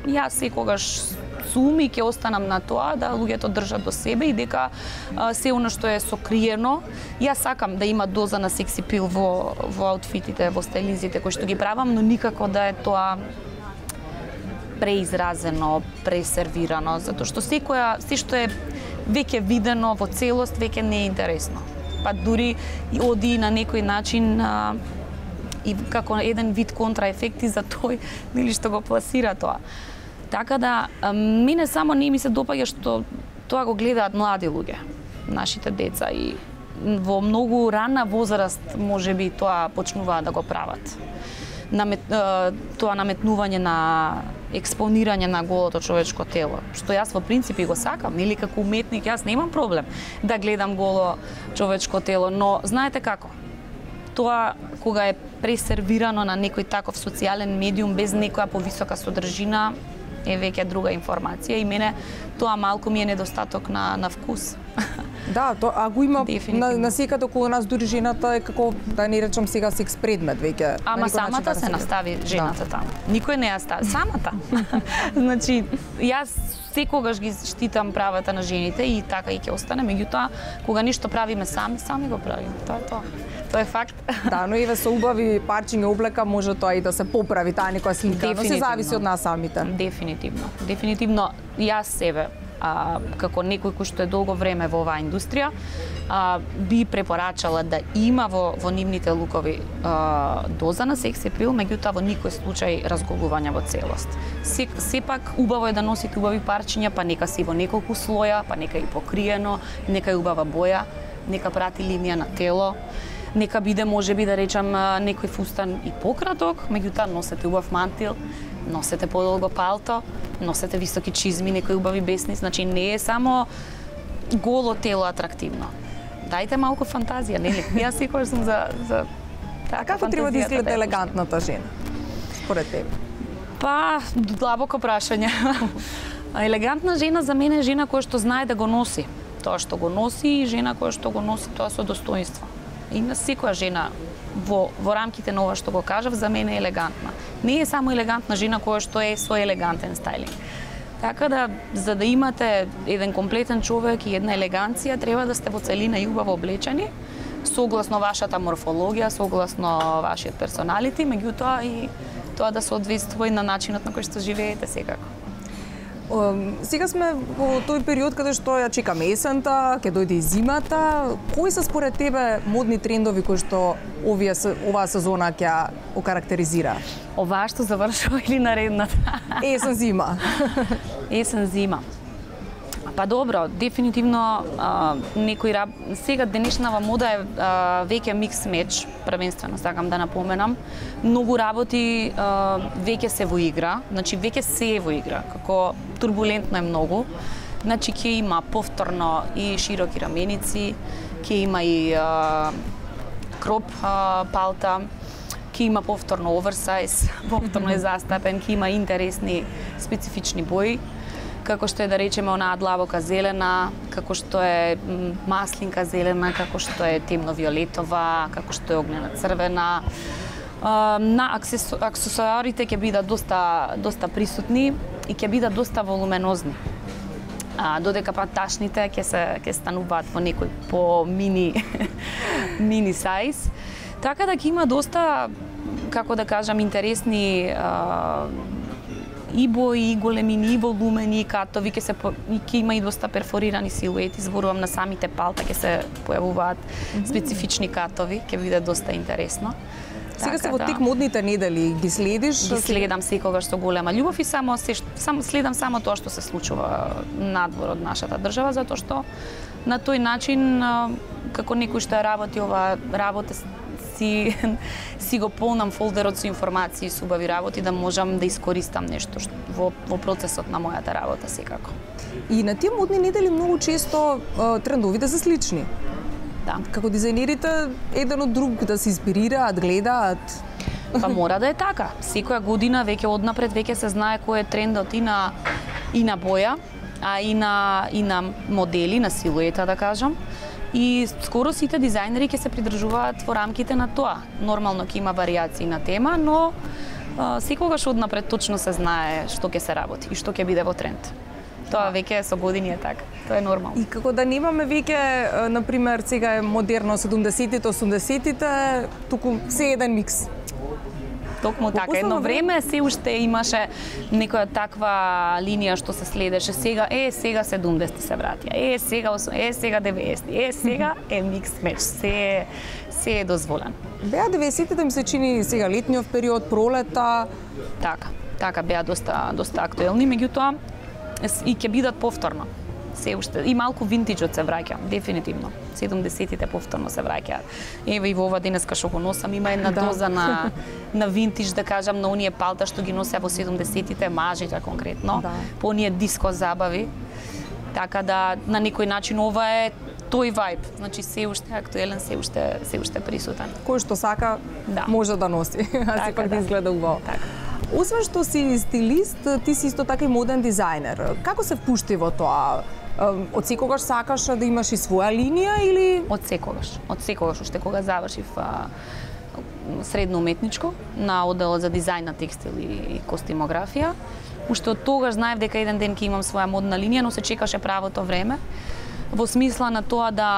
јас секогаш сум и ќе останам на тоа да луѓето држат до себе и дека а, се оно што е сокриено, јас сакам да има доза на секси пил во во аутфитите, во стајлинзите кои што ги правам, но никако да е тоа преизразено, пресервирано, затоа што секоја се што е веќе видено во целост веќе не е интересно. Па дури и оди на некој начин а, и како еден вид контраефекти за тој нели што го пласира тоа. Така да а, мене само не ми се допаѓа што тоа го гледаат млади луѓе, нашите деца и во многу рана возраст можеби тоа почнуваат да го прават. намет, тоа наметнување на експонирање на голото човечко тело, што јас во принципи го сакам, или како уметник јас немам проблем да гледам голо човечко тело, но знаете како? Тоа кога е пресервирано на некој таков социјален медиум без некоја повисока содржина е веќе друга информација и мене тоа малку ми е недостаток на на вкус.
Да, то, а го има на, на секаде околу нас, дури жената е како, да не речам сега, секс предмет веќе.
Ама самата начин, се настави жената да. Таму. Никој не ја стави. Самата. Значи, јас секогаш ги штитам правата на жените и така и ќе остане, меѓутоа, кога ништо правиме сами, сами го правиме. Тоа е тоа. Тоа е факт. Да,
но еве со убави парчиња облека може тоа и да се поправи таа некоја слика, но се зависи од нас самите.
Дефинитивно. Дефинитивно јас себе а, како некој кој што е долго време во оваа индустрија, а, би препорачала да има во, во нивните лукови а, доза на секс апил, меѓутоа во никој случај разголување во целост. Се, сепак убаво е да носите убави парчиња, па нека си во неколку слоја, па нека и покриено, нека и убава боја, нека прати линија на тело, нека биде можеби да речам некој фустан и пократок, меѓутоа носете убав мантил, носете подолго палто, носете високи чизми, некои убави бесни, значи не е само голо тело атрактивно. Дајте малку фантазија, нели? Јас секогаш сум за за
така. А како треба да изгледа елегантната жена според тебе?
Па, длабоко прашање. Елегантна жена за мене е жена која што знае да го носи тоа што го носи и жена која што го носи тоа со достоинство. И на секоја жена во во рамките на ова што го кажав за мене е елегантна. Не е само елегантна жена која што е со елегантен стајлинг. Така да, за да имате еден комплетен човек и една елеганција, треба да сте во целина и убаво облечени, согласно вашата морфологија, согласно вашиот персоналити, меѓутоа и тоа да соодветствува и на начинот на кој што живеете секако.
Сега сме во тој период каде што ја чекаме есента, ќе дојде и зимата. Кои се според тебе модни трендови кои што овие оваа сезона ќе окарактеризира?
Оваа што завршува или наредната?
Есен зима.
Есен зима. Па добро, дефинитивно а, некој раб... сега денешнава мода е а, веќе микс меч, првенствено сакам да напоменам. Многу работи а, веќе се во игра, значи веќе се е во игра, како турбулентно е многу. Значи ќе има повторно и широки раменици, ќе има и а, кроп а, палта, ќе има повторно оверсайз, повторно е застапен, ќе има интересни специфични бои, како што е да речеме онаа длабока зелена, како што е маслинка зелена, како што е темно-виолетова, како што е огнена црвена. На аксесуарите ќе бидат доста доста присутни и ќе бидат доста волуменозни. А, додека па ташните ќе се ќе стануваат во некој по мини мини сајз. Така да ќе има доста, како да кажам, интересни а, и бои, и големини, и волумени, и катови, ќе се ќе има и доста перфорирани силуети, зборувам на самите палта ќе се појавуваат специфични катови, ќе биде доста интересно.
Сега се во тек модните недели, ги следиш?
Ги следам секогаш со голема љубов и само се само следам само тоа што се случува надвор од нашата држава, затоа што на тој начин како некој што работи ова работа си си го полнам фолдерот со информации, со убави работи да можам да искористам нешто што, во во процесот на мојата работа секако.
И на тие модни недели многу често трендовите се слични.
Да.
Како дизајнерите еден од друг да се инспирираат, гледаат.
Па мора да е така. Секоја година веќе однапред веќе се знае кој е трендот и на и на боја, а и на и на модели, на силуета да кажам. И скоро сите дизајнери ќе се придржуваат во рамките на тоа. Нормално ќе има варијации на тема, но а, секогаш однапред точно се знае што ќе се работи и што ќе биде во тренд. Тоа веќе со години е така. Тоа е нормално.
И како да немаме веќе, на пример, сега е модерно седумдесетите, осумдесетите, туку се еден микс.
Токму така. Едно време се уште имаше некоја таква линија што се следеше. Сега е, сега седумдесети се вратија. Е, сега е, сега деветдесети. Е, сега е микс меч. Се се е дозволено.
Беа деветдесетите ми се чини сега летниот период, пролета.
Така, така беа доста доста актуелни, меѓутоа и ќе бидат повторно. се уште и малку винтиџот се враќа, дефинитивно. седумдесетите повторно се враќаат. Еве и во ова денеска што го носам има една
Да.
доза на на винтиџ, да кажам, на оние палта што ги носеа во седумдесетите, мажите конкретно,
Да.
по оние диско забави. Така да на некој начин ова е тој вајб, значи се уште актуелен, се уште се уште присутен.
Кој што сака
Да.
може да носи, а
Така,
сепак да
да.
изгледа убаво.
Така.
Освен што си стилист, ти си исто така и моден дизајнер. Како се впушти во тоа? Од секогаш сакаш да имаш и своја линија или
Од секогаш, од секогаш, уште кога завршив а, средно уметничко на одделот за дизајн на текстил и костимографија, уште од тогаш знаев дека еден ден ќе имам своја модна линија, но се чекаше правото време, во смисла на тоа да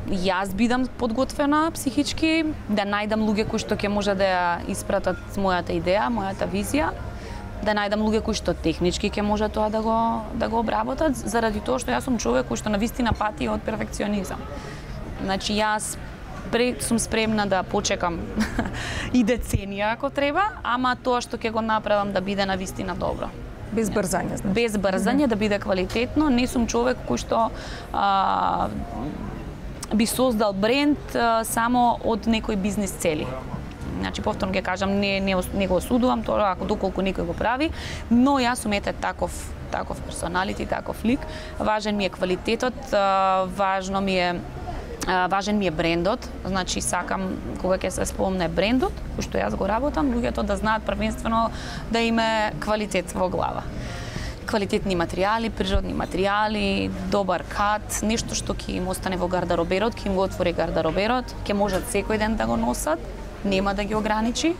јас бидам подготвена психички, да најдам луѓе кои што ќе може да ја испратат мојата идеја, мојата визија, да најдам луѓе кои што технички ќе може тоа да го да го обработат, заради тоа што јас сум човек кој што навистина пати од перфекционизам. Значи јас пре, сум спремна да почекам и деценија ако треба, ама тоа што ќе го направам да биде навистина добро.
без брзање, знаеш?
Без брзање, да биде квалитетно, не сум човек кој што а, би создал бренд а, само од некои бизнес цели. Значи, повторно ќе кажам, не, не, не го осудувам тоа ако доколку некој го прави, но јас сум ете таков таков персоналити, таков лик. Важен ми е квалитетот, а, важно ми е а, важен ми е брендот, значи сакам кога ќе се спомне брендот, кој што јас го работам, луѓето да знаат првенствено да име квалитет во глава. Квалитетни материјали, природни материјали, добар кат, нешто што ќе им остане во гардароберот, ќе им го отвори гардароберот, ќе можат секој ден да го носат, нема да ги ограничи.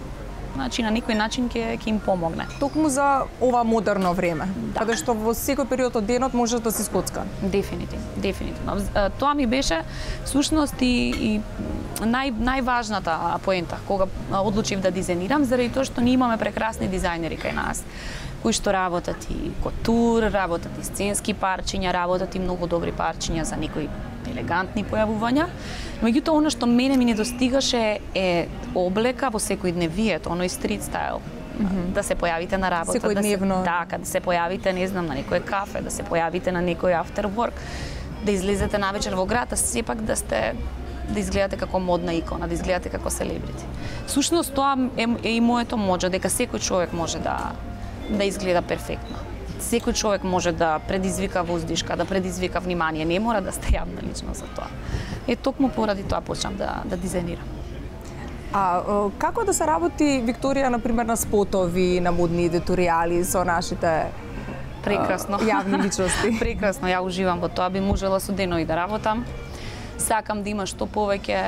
Значи на некој начин ќе ќе им помогне.
Токму за ова модерно време,
Да.
каде што во секој период од денот можеш да си скоцкан.
Дефинитивно, дефинитивно. З- Тоа ми беше всушност и, и нај, најважната поента кога одлучив да дизајнирам, заради тоа што ние имаме прекрасни дизајнери кај нас, кои што работат и котур, работат и сценски парчиња, работат и многу добри парчиња за некои елегантни појавувања. Меѓутоа, она што мене ми недостигаше е облека во секојдневието, оној стрит стайл. Да се појавите на работа, да се,
Секојдневно.
така, да се појавите, не знам, на некој кафе, да се појавите на некој after work, да излезете навечер во град, а сепак да сте да изгледате како модна икона, да изгледате како селебрити. Сушност тоа е, е и моето можа, дека секој човек може да да изгледа перфектно. Секој човек може да предизвика воздишка, да предизвика внимание, не мора да сте јавна личност за тоа. Е токму поради тоа почнав да да дизајнирам.
А е, како да се работи, Викторија, на пример, на спотови, на модни едиторијали со нашите
Прекрасно.
а, јавни личности?
Прекрасно, ја уживам во тоа, би можела со денови да работам. Сакам да има што повеќе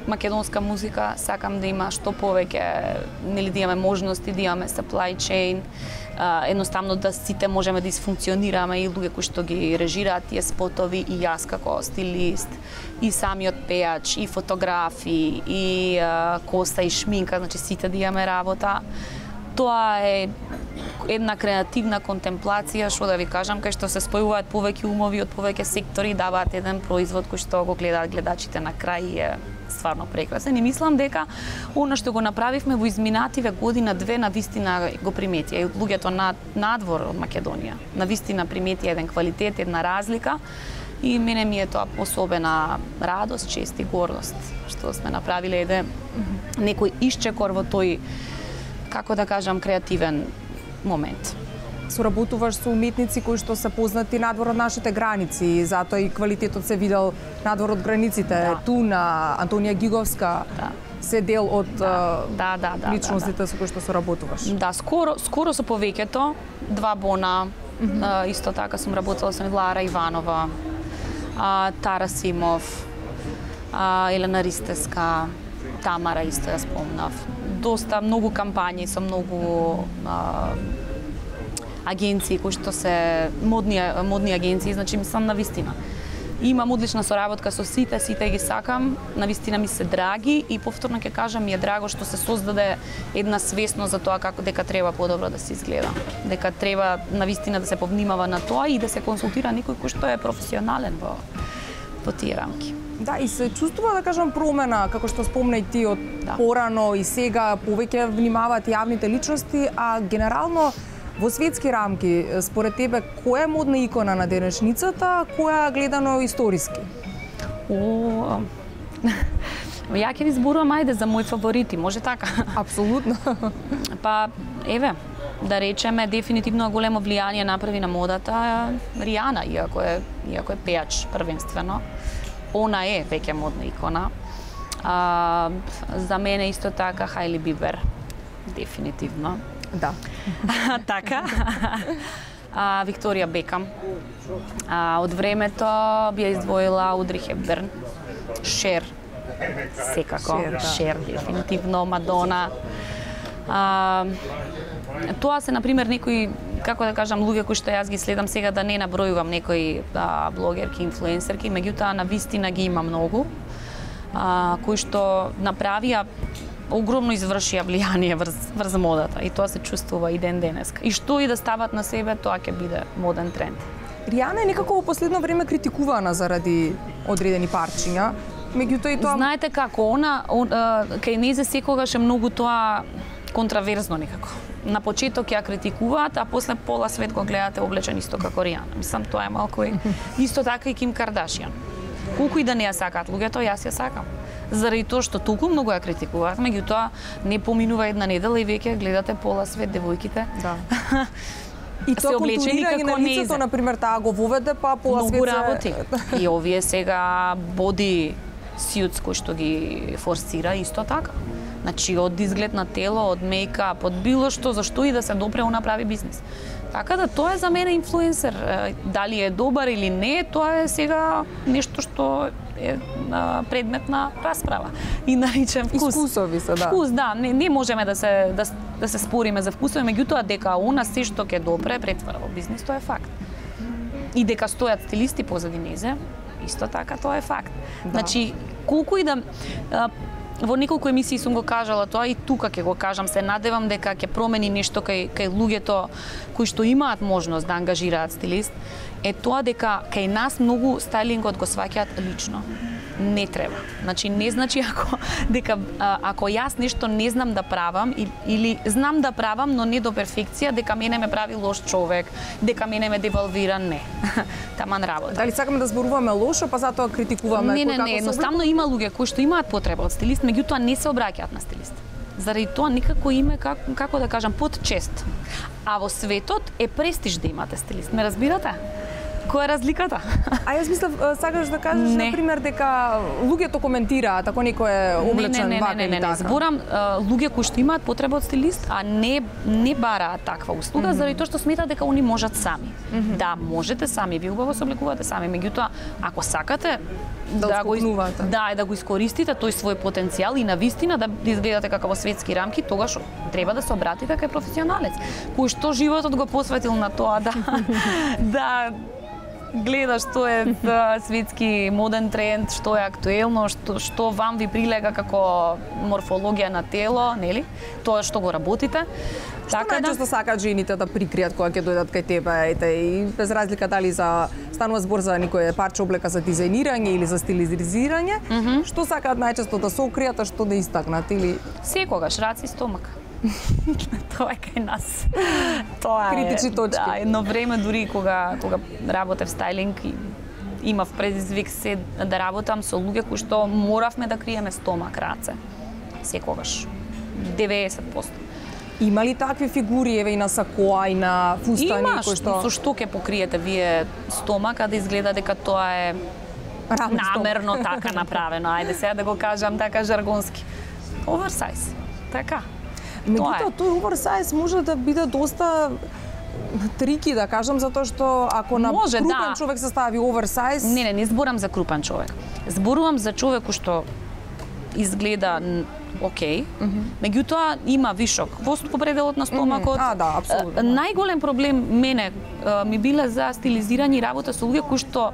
македонска музика, сакам да има што повеќе, нели да имаме можности, да имаме supply chain, а, едноставно да сите можеме да изфункционираме и луѓе кои што ги режираат тие спотови и јас како стилист, и самиот пејач, и фотографи, и а, коса и шминка, значи сите да имаме работа. Тоа е една креативна контемплација, што да ви кажам, кај што се спојуваат повеќе умови од повеќе сектори, даваат еден производ кој што го гледаат гледачите на крај и е стварно прекрасен. И мислам дека она што го направивме во изминативе година две на вистина го приметија и луѓето над, надвор од Македонија. На вистина приметија еден квалитет, една разлика и мене ми е тоа особена радост, чест и гордост што сме направиле еден некој исчекор во тој, како да кажам, креативен момент.
Соработуваш со уметници кои што се познати надвор од нашите граници, затоа и квалитетот се видел надвор од границите.
Да.
Туна, Антонија Гиговска,
Да.
се дел од
Да,
а,
да, да, да,
личностите со кои што соработуваш.
Да, скоро, скоро со повеќето, два бона, mm-hmm. а, исто така сум работела со Лара Иванова, а, Тара Симов, а, Елена Ристеска, Тамара исто ја спомнав. Доста, многу кампањи со многу а, агенции кои што се модни, модни агенции, значи мислам на вистина. Имам одлична соработка со сите, сите ги сакам, на вистина ми се драги и повторно ќе кажам ми е драго што се создаде една свесност за тоа како дека треба подобро да се изгледа. Дека треба на вистина да се повнимава на тоа и да се консултира некој кој што е професионален во во тие рамки.
Да, и се чувствува, да кажам, промена, како што спомна и ти, од
Да.
порано и сега повеќе внимаваат јавните личности, а генерално Во светски рамки, според тебе, која е модна икона на денешницата, која гледано историски?
О, ја ќе ви зборувам, ајде, за мои фаворити, може така?
Апсолутно.
Па, еве, да речеме, дефинитивно големо влијание направи на модата Ријана, иако е, иако е пејач првенствено. Она е веќе модна икона. А, за мене исто така Хајли Бибер, дефинитивно.
Да.
Така. А, Викторија Бекам. А, од времето би ја издвоила Одри Хепберн. Шер. Секако.
Шер, да.
Шер, дефинитивно. Мадона. А, тоа се, например, некои, како да кажам, луѓе кои што јас ги следам сега, да не набројувам некои а, блогерки, инфлуенсерки, меѓутоа на вистина ги има многу, а, кои што направија огромно извршија влијание врз, врз модата и тоа се чувствува и ден денеска. И што и да стават на себе, тоа ќе биде моден тренд.
Ријана е некако во последно време критикувана заради одредени парчиња, меѓутоа и тоа...
Знаете како, она, он, кај незе секогаш е многу тоа контраверзно некако. На почеток ја критикуваат, а после пола свет го гледате облечен исто како Ријана. Мислам, тоа е малку и исто така и Ким Кардашијан. Колку и да не ја сакаат луѓето, јас ја сакам. Заради тоа што толку многу ја критикуваат, меѓутоа не поминува една недела и веќе гледате пола свет девојките.
Да. И тоа контурирање на лицето, например, таа го воведе, па пола свет
многу работи. И овие сега боди сјуц кои што ги форсира исто така. Значи, од изглед на тело, од мејкап, од било што, зашто и да се допре, он направи бизнес. Така да тоа е за мене инфлуенсер. Дали е добар или не, тоа е сега нешто што е предмет на расправа. И наричен вкус.
Искусови се, да.
Вкус, да. Не, не можеме да се, да, да се спориме за вкусови, меѓутоа дека она се што ќе допре претвара во бизнес, тоа е факт. И дека стојат стилисти позади незе, исто така тоа е факт. Да. Значи, колку и да... Во неколку емисии сум го кажала тоа и тука ќе го кажам, се надевам дека ќе промени нешто кај, кај луѓето кои што имаат можност да ангажираат стилист, е тоа дека кај нас многу стайлингот го сваќаат лично. Не треба. Значи не значи ако дека а, ако јас нешто не знам да правам и, или знам да правам, но не до перфекција, дека мене ме прави лош човек, дека мене ме девалвира, не. Таман работа.
Дали сакаме да зборуваме лошо, па затоа критикуваме
кој како? Не, не,
не,
едноставно има луѓе кои што имаат потреба од стилист, меѓутоа не се обраќаат на стилист. Заради тоа никако име, как, како да кажам, под чест. А во светот е престиж да имате стилист. Ме разбирате? Која е разликата?
А јас мислев, сакаш да кажеш,
не.
Например, дека луѓето коментираат ако некој е облечен
не, не,
вака
не, не,
или така.
Не, зборам луѓе кои што имаат потреба од стилист, а не не бараат таква услуга, mm -hmm. заради тоа што сметаат дека они можат сами. Mm -hmm. Да, можете сами, ви убаво се облекувате сами, меѓутоа ако сакате
да,
да го
да,
да го искористите тој свој потенцијал и на вистина да изгледате како во светски рамки, тогаш треба да се обратите кај професионалец, кој што животот го посветил на тоа да да гледа што е светски моден тренд, што е актуелно, што, што вам ви прилега како морфологија на тело, нели? Тоа што го работите.
Што така најчесто да... сакаат жените да прикријат кога ќе дојдат кај тебе, ете, и без разлика дали за станува збор за некој парче облека за дизајнирање или за стилизирање, mm -hmm. што сакаат најчесто да се окријат, а што да истакнат или
секогаш раци и стомак. Тоа е кај нас. Тоа е
критични точки.
Да, едно време дури кога кога работев стайлинг имав предизвик се да работам со луѓе кои што моравме да криеме стомак, раце. Секогаш. деветдесет проценти.
Има ли такви фигури, еве и на сакоа, и на фустани?
Има,
кои што...
со што ќе покриете вие стомака да изгледа дека тоа е
Равно
намерно
стомак.
така направено. Ајде сега да го кажам така жаргонски. Оверсайз. Така.
Меѓутоа, тој оверсайз може да биде доста трики, да кажам, затоа што ако на
може,
крупен
да.
човек се стави оверсайз...
Не, не, не зборам за крупен човек. Зборувам за човек кој што изгледа окей, okay, mm -hmm. меѓутоа има вишок во пределот на стомакот.
Mm -hmm. А, да, апсолутно.
Најголем проблем мене ми биле за стилизирање и работа со луѓе кои што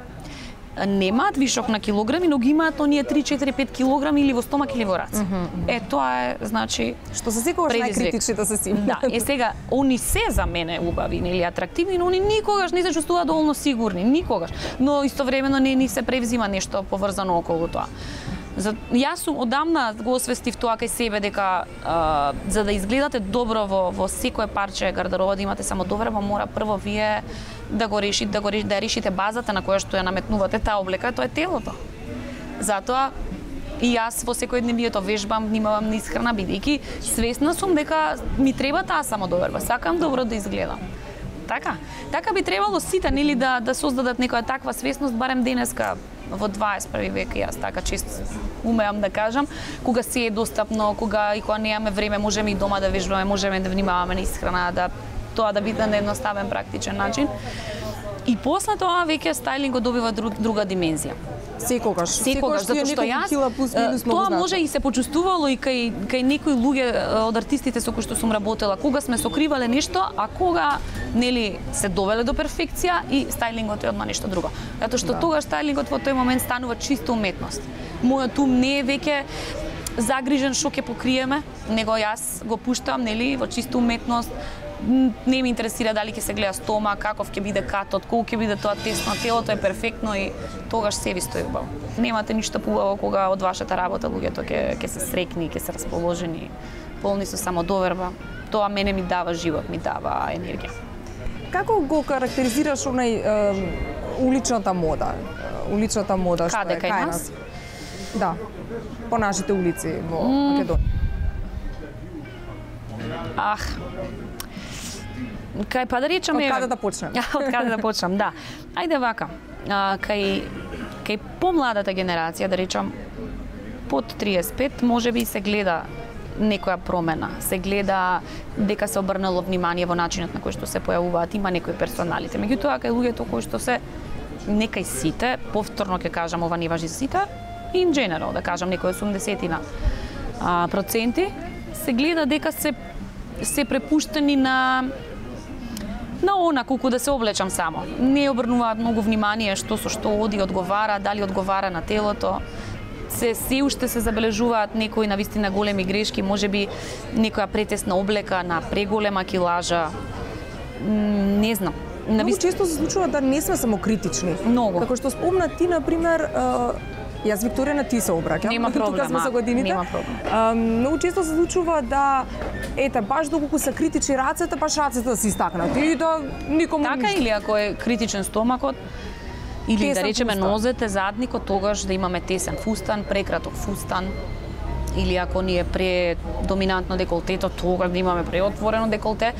немаат вишок на килограми, но ги имаат оние три, четири, пет килограми или во стомак или во раце. Mm -hmm. Е, тоа е, значи,
што се секогаш најкритичните се си.
Да, е сега, они се за мене убави, нели, атрактивни, но они никогаш не се чувствуваат доволно сигурни, никогаш. Но истовремено не ни се превзима нешто поврзано околу тоа. За, јас сум одамна го освестив тоа кај себе дека а, за да изгледате добро во во секое парче гардероба, да имате само доверба, мора прво вие да го решите, да го решите, да решите базата на која што ја наметнувате таа облека, тоа е телото. Затоа и јас во секојдневието вежбам, внимавам на исхрана, бидејќи свесна сум дека ми треба таа самодоверба, сакам добро да изгледам. Така, така би требало сите нели да да создадат некоја таква свесност, барем денеска во дваесет и први век, јас така чест умеам да кажам, кога се е достапно, кога и кога немаме време, можеме и дома да вежбаме, можеме да внимаваме на исхрана, да тоа да биде на едноставен практичен начин. И после тоа веќе стајлингот добива друг, друга димензија.
Секогаш,
секогаш, затоа што јас тоа може и се почувствувало и кај кај некои луѓе од артистите со кои што сум работела, кога сме сокривале нешто, а кога нели се довеле до перфекција и стајлингот е одма нешто друго. Затоа што да. Тогаш стајлингот во тој момент станува чиста уметност. Мојот ум не е веќе загрижен што ќе покриеме, него јас го пуштам нели во чиста уметност. Не ме интересира дали ќе се гледа стома, каков ќе биде катот, колку ќе биде тоа тесно, телото е перфектно и тогаш се ви стои убаво. Немате ништо поубаво кога од вашата работа луѓето ќе ќе се среќни, ќе се расположени, полни со самодоверба. Тоа мене ми дава живот, ми дава енергија.
Како го карактеризираш онај е, уличната мода? Уличната мода што
Каде,
е
кај
кај
нас?
Да. По нашите улици во Македонија.
Ах. Кај па да речеме...
Од каде да почнем?
Од каде да почнем, да. Ајде вака. А, кај кај помладата генерација, да речам, под триесет и пет, можеби се гледа некоја промена. Се гледа дека се обрнало внимание во начинот на кој што се појавуваат, има некои персоналите. Меѓутоа, кај луѓето кои што се некај сите, повторно ќе кажам, ова не важи за сите, in general, да кажам, некои осумдесет проценти, се гледа дека се се препуштени на на она колку да се облечам само. Не обрнуваат многу внимание што со што оди, одговара, дали одговара на телото. Се се уште се забележуваат некои навистина големи грешки, можеби некоја претесна облека на преголема килажа. Не знам.
Многу често се случува да не сме само критични.
Многу.
Како што спомна ти, например, јас Викторија на ти се обраќам.
Нема проблем.
Тука сме за годините.
Нема проблем.
А, многу често се случува да ете баш доколку се критични рацете, баш рацете да се истакнат и да никому
така
ништо.
Или ако е критичен стомакот, или
Тесен
да речеме
фустан.
нозете, задникот, тогаш да имаме тесен фустан, прекраток фустан. Или ако ни е предоминантно деколтето, тогаш да имаме преотворено деколте,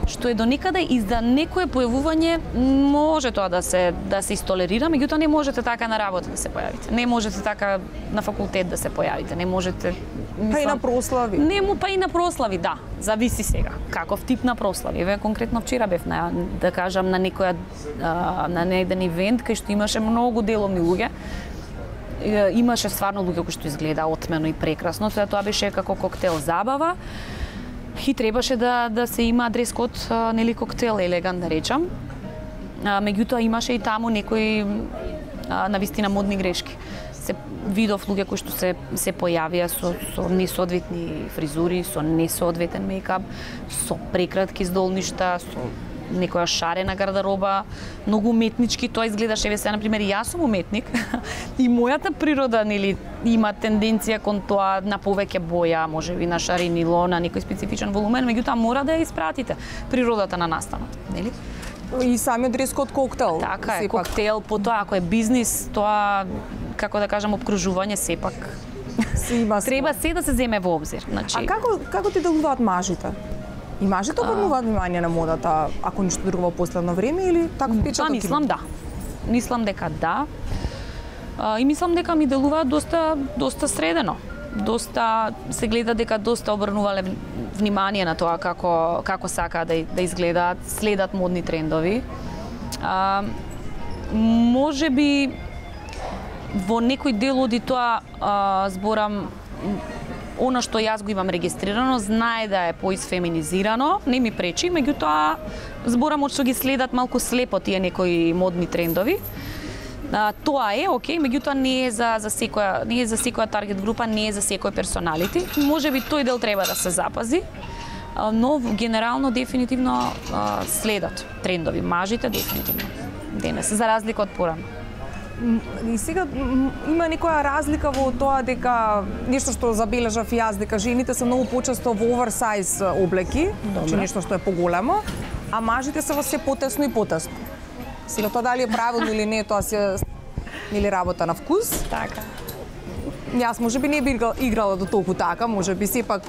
што е до некаде и за некое појавување може тоа да се да се истолерира, меѓутоа не можете така на работа да се појавите. Не можете така на факултет да се појавите, не можете мислам,
Па и на прослави.
Не му па и на прослави, да. Зависи сега каков тип на прослави. Еве конкретно вчера бев на да кажам на некоја а, на еден ивент кај што имаше многу деловни луѓе. Имаше стварно луѓе кои што изгледа отмено и прекрасно, тоа беше како коктел забава. И требаше да да се има дрес код, нели коктел елегант да речам. Меѓутоа имаше и таму некои навистина модни грешки. Се видов луѓе кои што се се појавија со со несоодветни фризури, со несоодветен мејкап, со прекратки здолништа, со некоја шарена гардероба, многу уметнички, тоа изгледаше, еве сега на пример јас сум уметник и мојата природа нели има тенденција кон тоа на повеќе боја, можеби на шаренило, на некој специфичен волумен, меѓутоа мора да ја испратите природата на настанот, нели?
И самиот дрес код коктел.
Така е,
сепак.
коктел, потоа ако е бизнис, тоа како да кажам опкружување сепак.
Се има
Треба се да се земе во обзир, значи.
А како како ти делуваат мажите? И мажите обрнуваат внимание на модата, ако ништо друго во последно време или таков печаток?
Па мислам да. Мислам дека да. А, и мислам дека ми делуваат доста доста средено. Доста се гледа дека доста обрнувале внимание на тоа како како сакаат да да изгледаат, следат модни трендови. А, можеби во некој дел од тоа а, зборам она што јас го имам регистрирано, знае да е поисфеминизирано, не ми пречи, меѓутоа зборам од што ги следат малку слепо тие некои модни трендови. А, тоа е окей, меѓутоа не е за за секоја не е за секоја таргет група, не е за секој персоналити. Можеби тој дел треба да се запази, а, но генерално дефинитивно а, следат трендови, мажите дефинитивно. Денес за разлика од порано.
И сега има некоја разлика во тоа дека нешто што забележав и јас, дека жените се многу почесто во оверсайз облеки, значи нешто што е поголемо, а мажите се во се потесно и потесно. Сега тоа дали е правилно или не, тоа се или работа на вкус.
Така.
Јас можеби не би играла до толку така, можеби сепак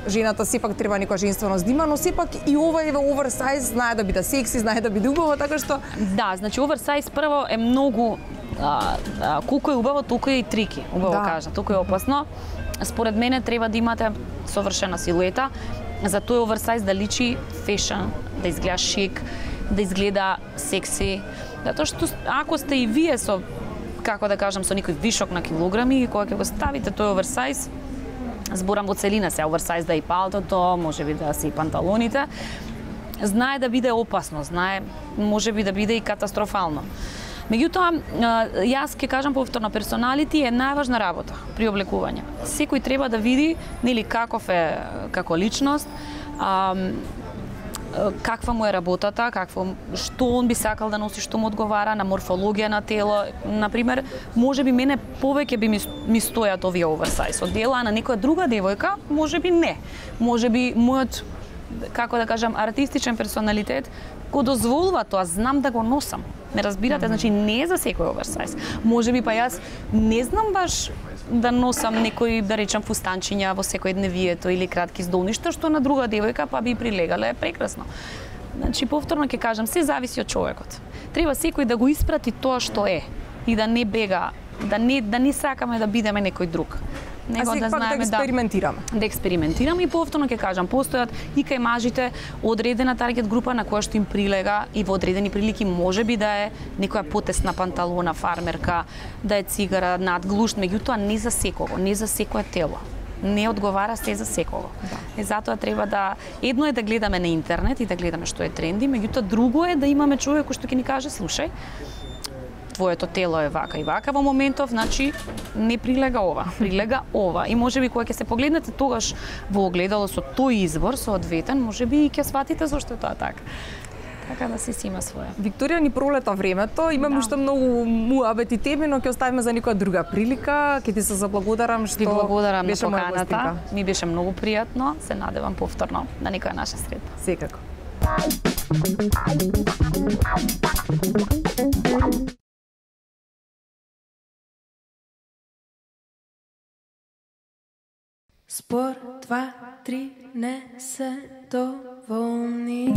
жената сепак треба некоја женственост да има, но сепак и ова е во оверсайз, знае да биде секси, знае да биде убаво, така што
Да, значи оверсайз прво е многу а, а, колку е убаво, толку е и трики, убаво да. кажа, толку е опасно. Според мене треба да имате совршена силуета, за тој оверсайз да личи фешн, да изгледа шик, да изгледа секси, затоа што ако сте и вие со, како да кажам, со некој вишок на килограми, кога ќе го ставите тој оверсайз, зборам во целина се, оверсайз да и палтото, можеби да се и панталоните, знае да биде опасно, знае можеби да биде и катастрофално. Меѓутоа, јас ќе кажам повторно, персоналити е најважна работа при облекување. Секој треба да види, нели, каков е како личност, а, каква му е работата, какво, што он би сакал да носи, што му одговара на морфологија на тело. Например, можеби мене повеќе би ми, ми стојат овие оверсайз одела, а на некоја друга девојка можеби не. Можеби мојот, како да кажам, артистичен персоналитет го дозволува тоа, знам да го носам. Не разбирате, значи не е за секој оверсайз. Можеби па јас не знам баш да носам некои, да речам, фустанчиња во секој дневието или кратки здолништа, што на друга девојка па би прилегале прекрасно. Значи, повторно ќе кажам, се зависи од човекот. Треба секој да го испрати тоа што е и да не бега, да не, да не сакаме да бидеме некој друг.
Него да знаеме да експериментираме.
Да, да експериментираме и повторно ќе кажам, постојат и кај мажите одредена таргет група на која што им прилега и во одредени прилики можеби да е некоја потесна панталона, фармерка, да е цигара, надглушт, меѓутоа не за секого, не за секое тело. Не одговара се за секого. Да. И затоа треба да едно е да гледаме на интернет и да гледаме што е тренди, меѓутоа друго е да имаме човек кој што ќе ни каже, слушај, твоето тело е вака и вака во моментов, значи не прилега ова, прилега ова. И можеби кога ќе се погледнете тогаш во огледало со тој избор, соодветен, можеби и ќе сватите зошто е тоа така. Така да се си има своја.
Викторија, ни пролета времето, имаме уште да. многу муабети теми, но ќе оставиме за некоја друга прилика. Ќе ти се заблагодарам што
Ви благодарам
беше
на поканата. Ми беше многу пријатно. Се надевам повторно на некоја наша средба.
Секако.
Спор, два, три, не се доволни.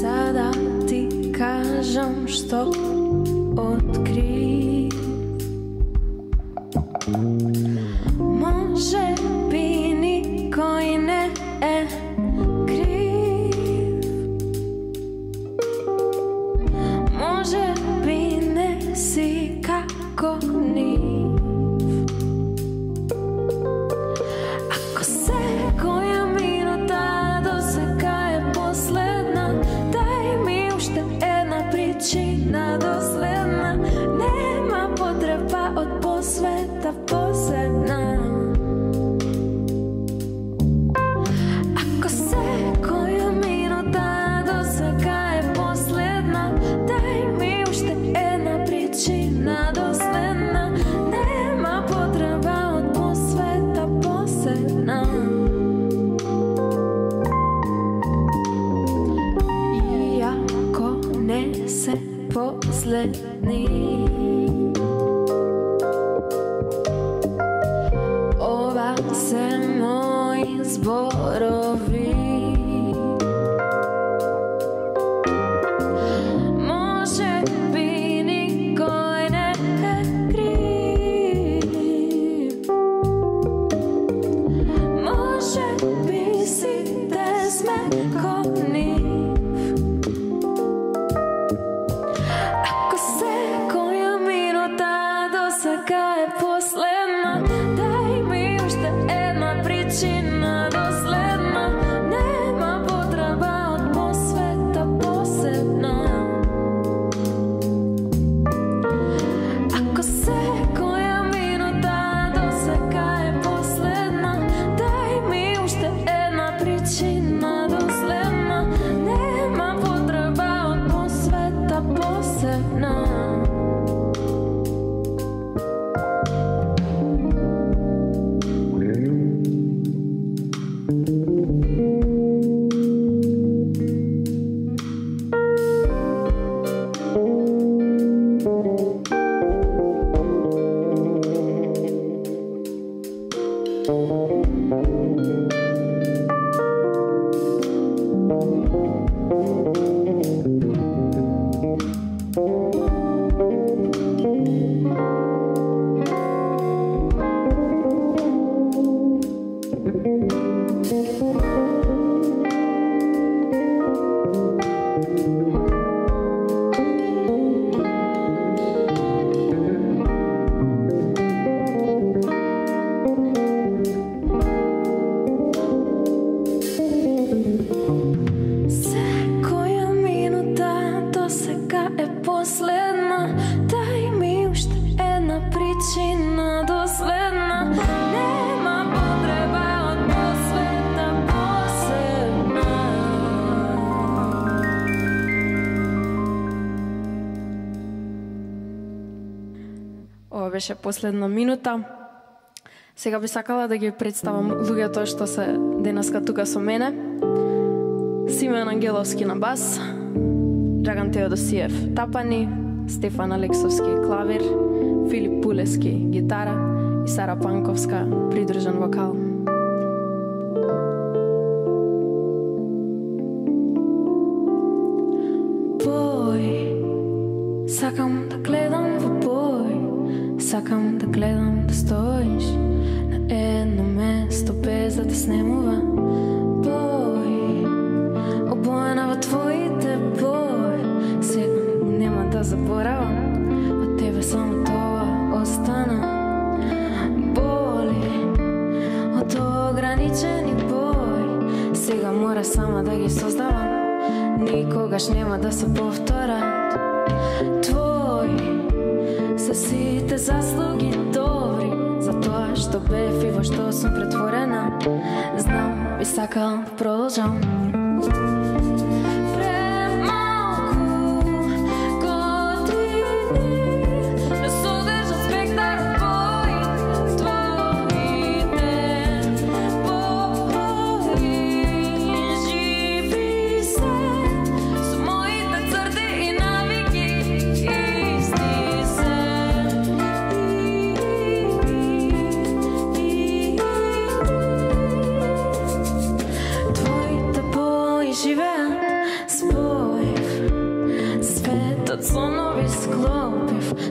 Сада ти кажам што откри. Може би никој не е крив. Може би не си како нив. Ако секоја минута до сега е последна, дај ми уште една причина доследна. Нема потреба од посвета посебна. Ако секоја минута до сега е последна, дај ми уште една причина доследна. Нема потреба од посвета посебна. Иако не се последни, ова се мои зборови. Може би никој не е крив. Може би сите сме ко нив. Ако секоја минута до сега е последна, дај ми уште една причина доследна.
ова беше последна минута. Сега би сакала да ги представам луѓето што се денеска тука со мене. Симен Ангеловски на бас, Драган Теодосиев тапани, Стефан Алексовски клавир, Филип Пулески гитара и Сара Панковска придружен вокал. Бој, сакам да гледам во бој, сакам да гледам да стоиш на едно место без да те снемува. Бој, обоена во твоите бој, сега нема да заборавам, од тебе само тоа остана. Боли од ограничени бој, сега мора сама да ги создавам, никогаш нема да се повторат. Твои се сите заслуги добри, за тоа што бев и во што сум претворена. Знам, би сакал да продолжам.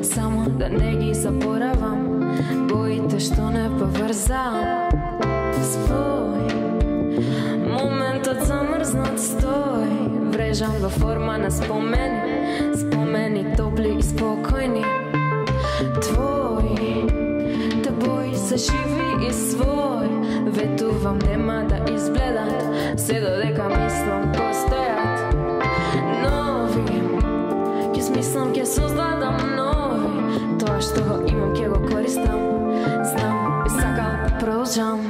Само да не ги заборавам боите што не поврзам. Спој, моментот замрзнат стој, врежан во форма на спомени, спомени топли и спокојни. Твои, те бои се живи и свој, ветувам нема да изгледат, се додека мислам постојат. Нови, ќе смислам, ќе создадам нови, тоа што го имам ќе го користам. Знам, би сакал да продолжам.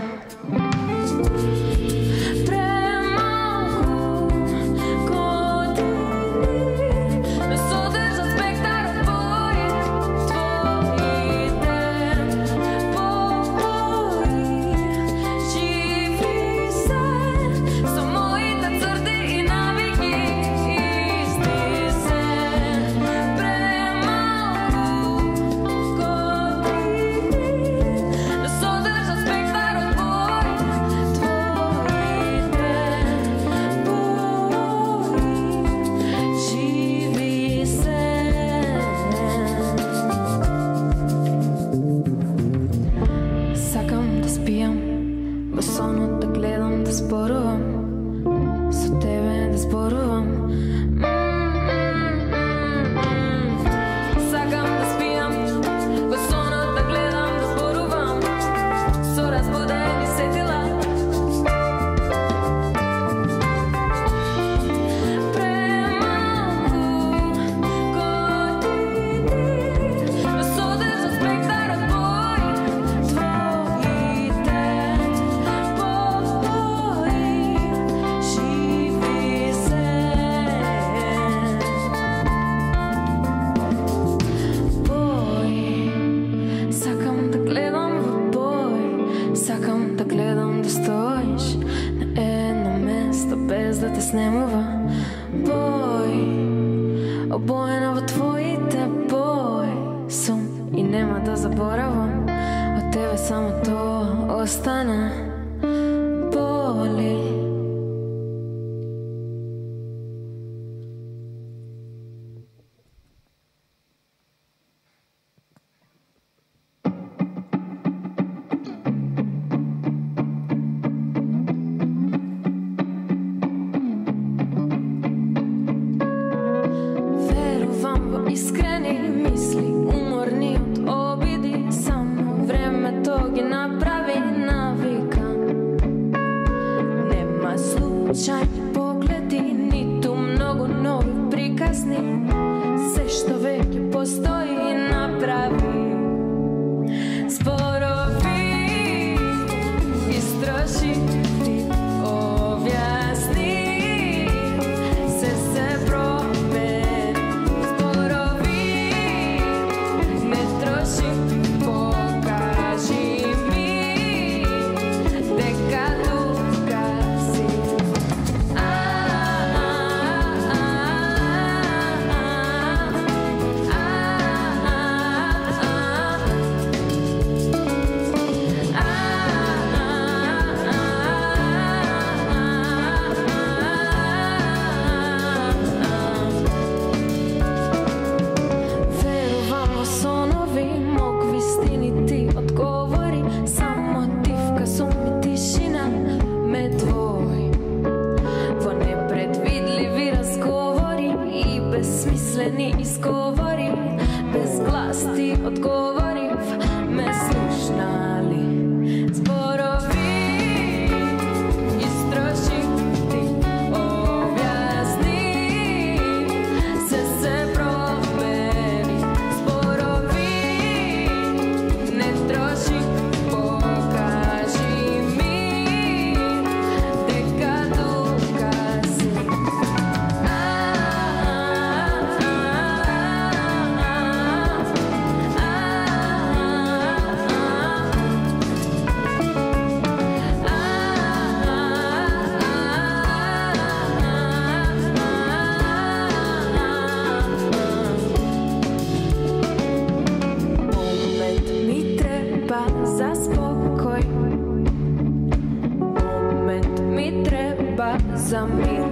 Спорови, не троши Безсмислени изговори, без глас ти одговорив, ме слушна ли зборови, истроши ти објасни, се се промени, зборови, не троши, покажи ми, дека тука си. За мир.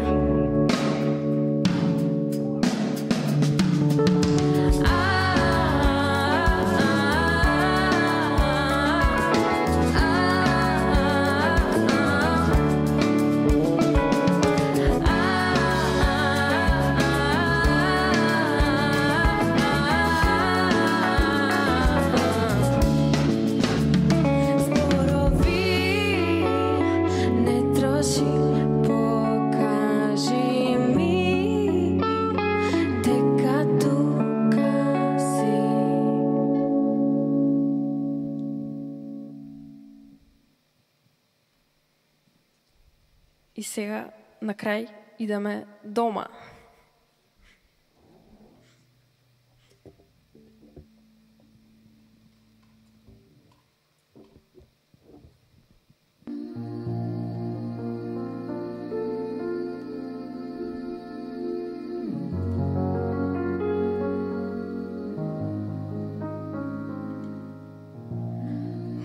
И сега, на крај, идеме дома.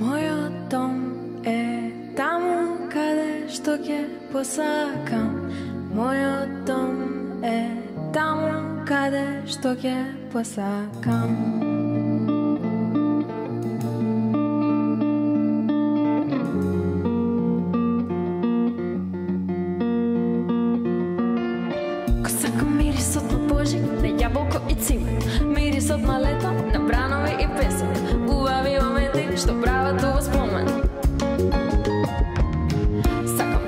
Мојот дом е таму каде што ќе посакам. Мојот дом е таму каде што ќе посакам. Ко сакам мирисот на божик, на јаболко и цимет, мирисот на лето, на бранови и песок, убави моменти што прават ова спомен.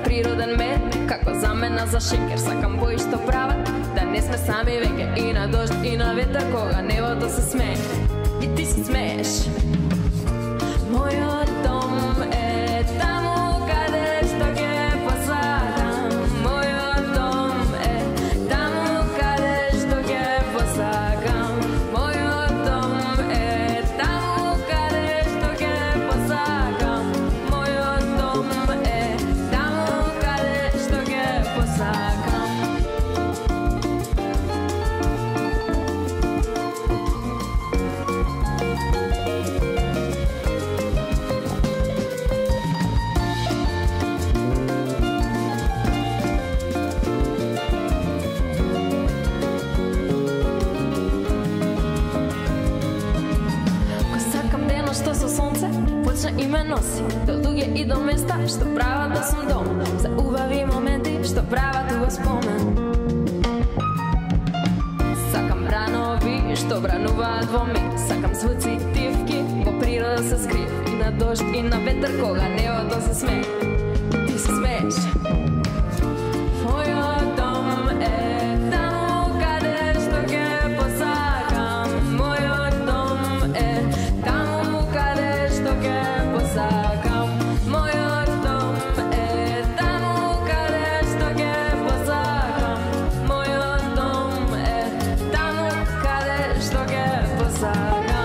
Природен мед, како замена за шекер. Сакам бои што прават да не сме сами веќе. И на дожд, и на ветер, кога небото се смее. И ти се смееш. Мојот дом е таму каде што ќе посакам. Мојот дом е таму каде што ќе посакам. Мојот дом е таму каде што ќе посакам. Мојот дом е што со сонце почне и ме носи до луѓе и до места што прават да сум дом, за убави моменти што прават ова спомен. Сакам бранови што брануваат во миг, сакам звуци тивки во природа се скрив, и на дожд и на ветер кога небото се смее. Ти се смееш. Мојот дом е таму каде што ќе посакам. Мојот дом е таму каде што ќе посакам. Мојот дом е таму каде што ќе посакам. Мојот дом е таму каде што ќе посакам.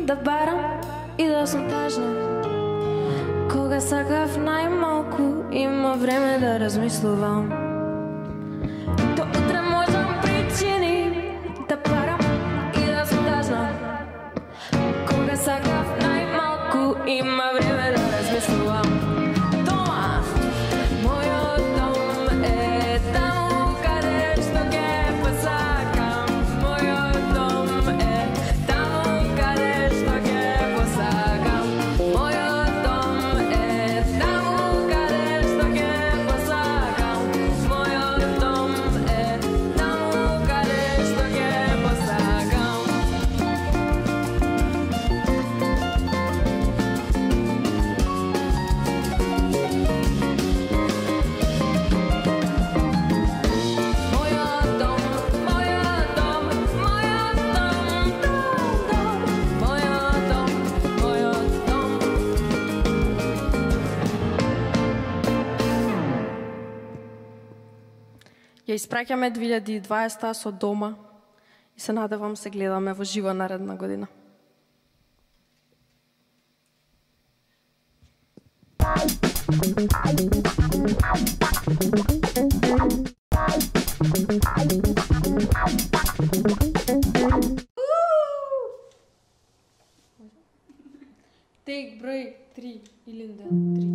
Да барам и да сум тажна. Кога сакав најмалку, има време да размислувам. До утре можам причини да барам и да сум тажна. Кога сакав најмалку, има време
Ја испраќаме две илјади и дваесета со дома и се надевам се гледаме во живо наредна година. Тек број три, Илинда, три.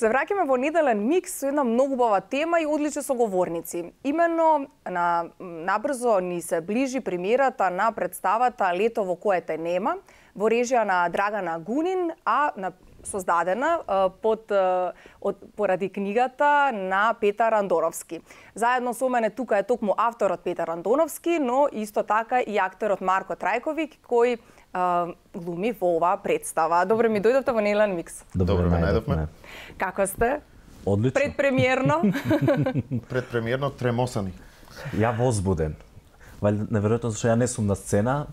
Се враќаме во неделен микс со една многу убава тема и одлични соговорници. Именно на набрзо ни се ближи премиерата на представата Лето во кое те нема, во режија на Драгана Гунин, а на создадена под од поради книгата на Петар Андоновски. Заедно со мене тука е токму авторот Петар Андоновски, но исто така и актерот Марко Трајковик, кој Uh, глуми во оваа представа. Добре ми дојдовте во неделен микс.
Добре ме најдовме.
Како сте?
Одлично.
Предпремиерно?
Предпремиерно тремосани.
Ја возбуден.
Вали неверојатно зашто ја не сум на сцена.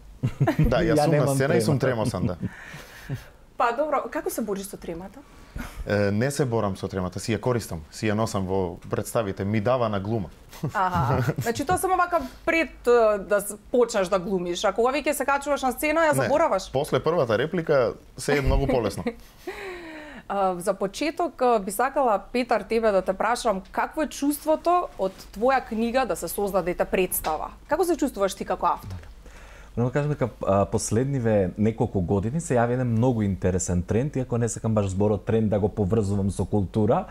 Да, јас сум на
немам
сцена и сум
тремата.
тремосан, да.
Па добро, како се бориш со тремата?
Е, не се борам со тремата, си ја користам, си ја носам во представите, ми дава на глума.
Аха, значи тоа само вака пред е, да с- почнеш да глумиш, а кога веќе се качуваш на сцена ја забораваш?
Не, после првата реплика се е многу полесно.
А, за почеток а, би сакала, Петар, тебе да те прашам какво е чувството од твоја книга да се создаде та представа? Како се чувствуваш ти како автор?
Но да кажам дека а, последниве неколку години се јави еден многу интересен тренд, иако не сакам баш зборот тренд да го поврзувам со култура.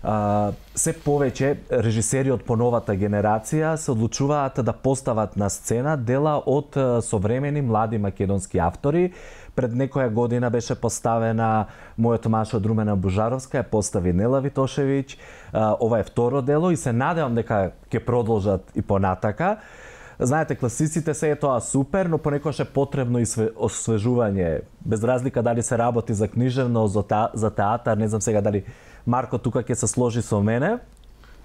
А, се повеќе режисери од поновата генерација се одлучуваат да постават на сцена дела од а, современи млади македонски автори. Пред некоја година беше поставена мојот маж од Румена Бужаровска, ја постави Нела Витошевиќ. А, ова е второ дело и се надевам дека ќе продолжат и понатака. Знаете, класиците се е тоа супер, но понекогаш е потребно и све, освежување. Без разлика дали се работи за книжевно, за, та, за театар, не знам сега дали Марко тука ќе се сложи со мене.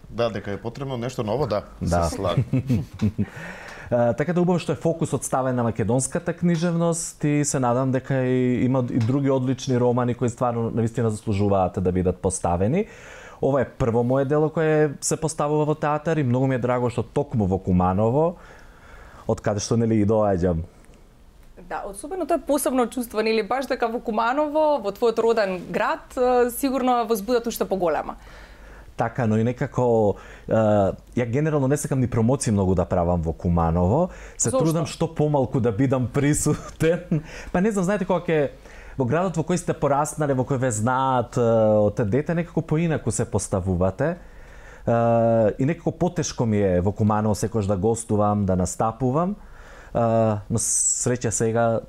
Да, дека е потребно нешто ново, да,
Да.
се слагам.
Uh, така да убаво што е фокусот ставен на македонската книжевност и се надам дека и, има и други одлични романи кои стварно навистина заслужуваат да бидат поставени. Ова е прво мое дело кое се поставува во театар и многу ми е драго што токму во Куманово, од каде што нели и доаѓам.
Да, особено тоа е посебно чувство, нели баш дека во Куманово, во твојот роден град, е, сигурно возбудат уште поголема.
Така, но и некако е, ја генерално не сакам ни промоции многу да правам во Куманово. Се
Зошто?
трудам што помалку да бидам присутен. Па не знам, знаете кога ќе во градот во кој сте пораснале, во кој ве знаат е, од дете, некако поинаку се поставувате. Е, и некако потешко ми е во Куманово секојаш да гостувам, да настапувам. Е, но среќа сега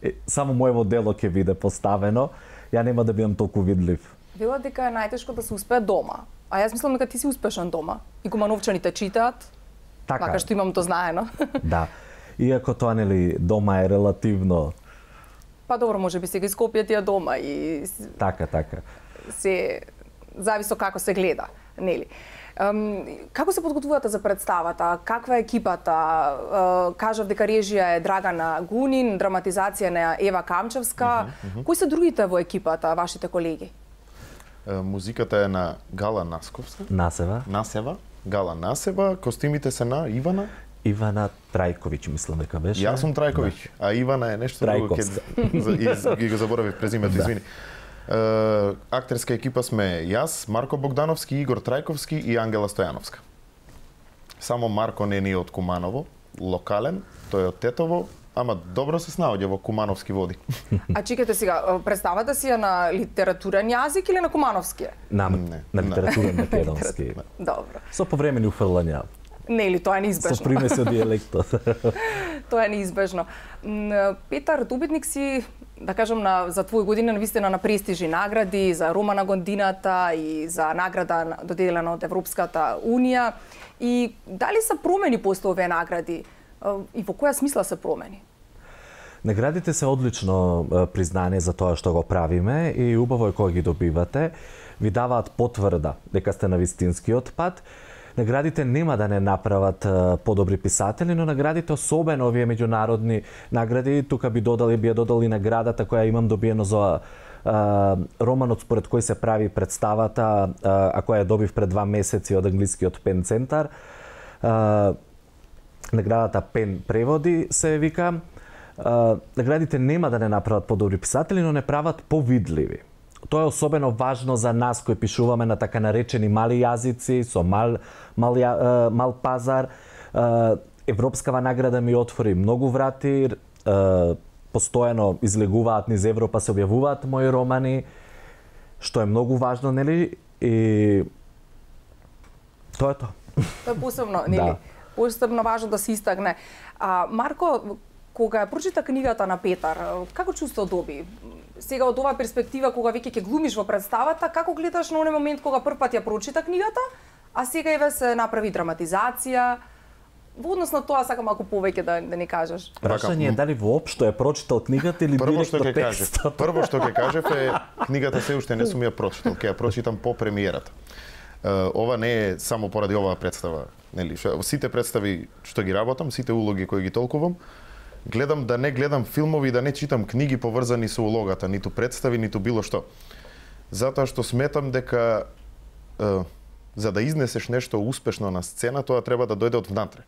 е, само моево дело ќе биде поставено. Ја нема да бидам толку видлив.
Велат дека е најтешко да се успее дома. А јас мислам дека ти си успешен дома. И кумановчаните читаат,
Така.
макар што имам тоа знаено.
Да. Иако тоа нели дома е релативно.
Па добро, може би сега ископија тие дома и с-
Така, така.
се зависи како се гледа, нели? Ем, како се подготвувате за представата? Каква е екипата? Е, кажав дека режија е Драгана Гунин, драматизација на Ева Камчевска. Кои се другите во екипата, вашите колеги?
Е, Музиката е на Гала Насковска,
Насева.
Насева, Гала Насева, костимите се на Ивана.
Ивана Трајковиќ, мислам дека беше.
Јас сум Трајковиќ, а Ивана е нешто друго,
Трајковска.
ќе ги го заборавив презимето, извини. Е, актерска екипа сме јас, Марко Богдановски, Игор Трајковски и Ангела Стојановска. Само Марко не ни е од Куманово, локален, тој е од Тетово, ама добро се снаоѓа во кумановски води.
А чекайте сега, представата си е на литературен јазик или на кумановски?
На,
Не,
на
не.
литературен македонски.
Добро.
Со повремени уфрлања.
Нели, тоа е
Со
неизбежно.
примеси од диелектот.
Тоа е неизбежно. М, Петар, добитник си, да кажам, на, за твои години навистина на престижни награди, за Рома на годината и за награда на- доделена од Европската Унија. И дали се промени после овие награди? Е, И во која смисла се промени?
Наградите се одлично е, признание за тоа што го правиме и убаво е кога ги добивате. Ви даваат потврда дека сте на вистинскиот пат. Наградите нема да не направат е, подобри писатели, но наградите, особено овие меѓународни награди, тука би додали би ја додали наградата која имам добиено за е, романот според кој се прави представата, е, а која ја добив пред два месеци од англискиот Пен центар. Е, Наградата Пен преводи се вика. Uh, наградите нема да не направат подобри писатели, но не прават повидливи. Тоа е особено важно за нас кои пишуваме на така наречени мали јазици, со мал, мал, ја, uh, мал пазар. Uh, Европскава награда ми отвори многу врати, uh, постојано излегуваат низ Европа, се објавуваат мои романи, што е многу важно, нели? И тоа е тоа.
Тоа е посебно, нели?
Да.
Посебно важно да се истакне. А Марко, кога ја прочита книгата на Петар, како чувство доби? Сега од оваа перспектива, кога веќе ќе глумиш во представата, како гледаш на оној момент кога прв пат ја прочита книгата, а сега еве се направи драматизација? Во однос на тоа сакам малку повеќе да, да ни кажеш.
Прашање е дали воопшто е прочитал книгата или
Прво што
директно
ќе кажев,
текстот?
прво што ќе кажев е книгата се уште не сум ја прочитал, ќе ја прочитам по премиерата. ова не е само поради оваа представа, нели? Сите представи што ги работам, сите улоги кои ги толкувам, гледам да не гледам филмови, да не читам книги поврзани со улогата, ниту представи, ниту било што. Затоа што сметам дека е, за да изнесеш нешто успешно на сцена, тоа треба да дојде од внатре,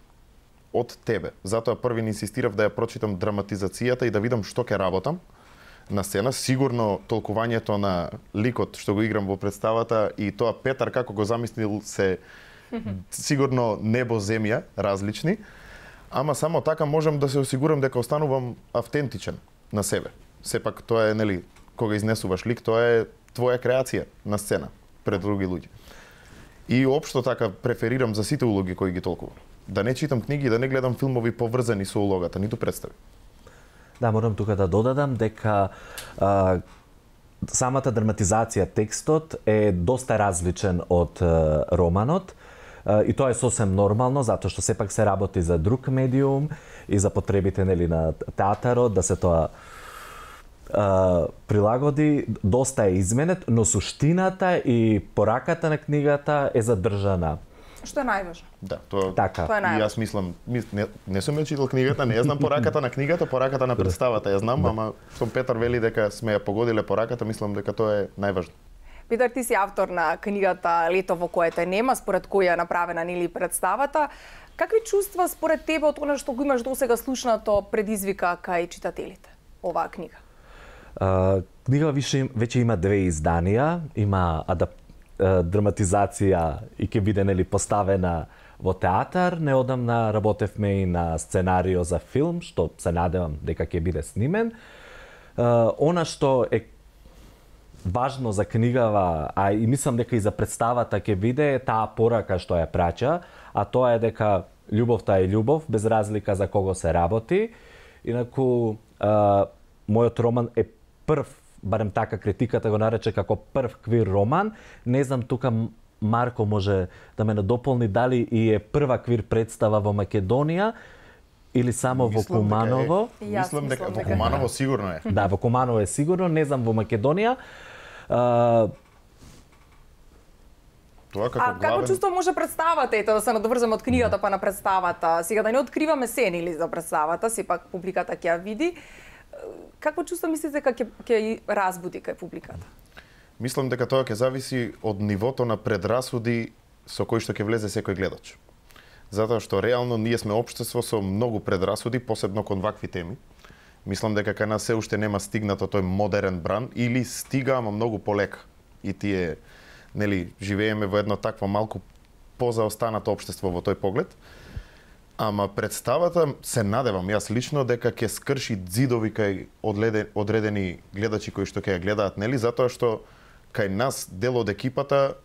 од тебе. Затоа први инсистирав да ја прочитам драматизацијата и да видам што ќе работам на сцена. Сигурно толкувањето на ликот што го играм во представата и тоа Петар како го замислил се сигурно небо земја различни, ама само така можам да се осигурам дека останувам автентичен на себе. Сепак тоа е, нели, кога изнесуваш лик, тоа е твоја креација на сцена пред други луѓе. И општо така преферирам за сите улоги кои ги толкувам. Да не читам книги, да не гледам филмови поврзани со улогата, ниту представи.
Да, морам тука да додадам дека а, самата драматизација, текстот е доста различен од а, романот. А, и тоа е сосем нормално, затоа што сепак се работи за друг медиум и за потребите, нели, на театарот, да се тоа а, прилагоди, доста е изменет, но суштината и пораката на книгата е задржана.
Што е најважно?
Да, тоа,
така.
Тоа е
и јас мислам, мис, не, не сум ја читал книгата, не ја знам пораката на книгата, пораката на представата ја знам, ама што Петар вели дека сме ја погодиле пораката, мислам дека тоа е најважно.
Петар, ти си автор на книгата Лето во кое те нема, според која е направена, нели, представата. Какви чувства според тебе од она што го имаш досега слушнато предизвика кај читателите оваа книга?
Uh, книга више, веќе има две изданија, има адап, uh, драматизација и ќе биде, нели, поставена во театар. Неодамна работевме и на сценарио за филм, што се надевам дека ќе биде снимен. Uh, она што е важно за книгава, а и мислам дека и за представата ќе биде, е таа порака што ја праќа, а тоа е дека љубовта е љубов, без разлика за кого се работи. Инаку, uh, мојот роман е прв, барем така критиката го нарече како прв квир роман. Не знам тука Марко може да ме надополни дали и е прва квир представа во Македонија или само во Куманово.
Е, мислам дека во Куманово сигурно е.
Да, во Куманово е сигурно, не знам во Македонија. А,
Тоа како
а
главен...
како чувство може представата, ето да се надоврзаме од книгата па на представата? Сега да не откриваме се, нели, за представата, сепак публиката ќе ја види. Какво чувство мислите дека ќе ќе разбуди кај публиката?
Мислам дека тоа ќе зависи од нивото на предрасуди со кои што ќе влезе секој гледач. Затоа што реално ние сме општество со многу предрасуди, посебно кон вакви теми. Мислам дека кај нас се уште нема стигнато тој модерен бран или стига, ама многу полека. И тие, нели, живееме во едно такво малку позаостанато општество во тој поглед. Ама представата се надевам јас лично дека ќе скрши ѕидови кај одредени гледачи кои што ќе ја гледаат, нели, затоа што кај нас дел од екипата,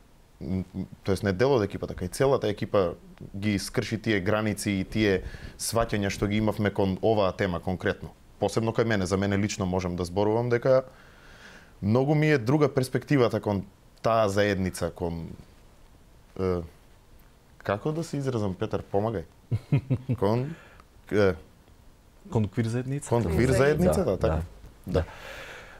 тоест не дел од екипата, кај целата екипа ги скрши тие граници и тие сваќања што ги имавме кон оваа тема конкретно. Посебно кај мене, за мене лично можам да зборувам дека многу ми е друга перспективата кон таа заедница, кон е, како да се изразам, Петар, помагај. Кон е,
кон квир заедница?
Кон квир заедница, да, така.
Да.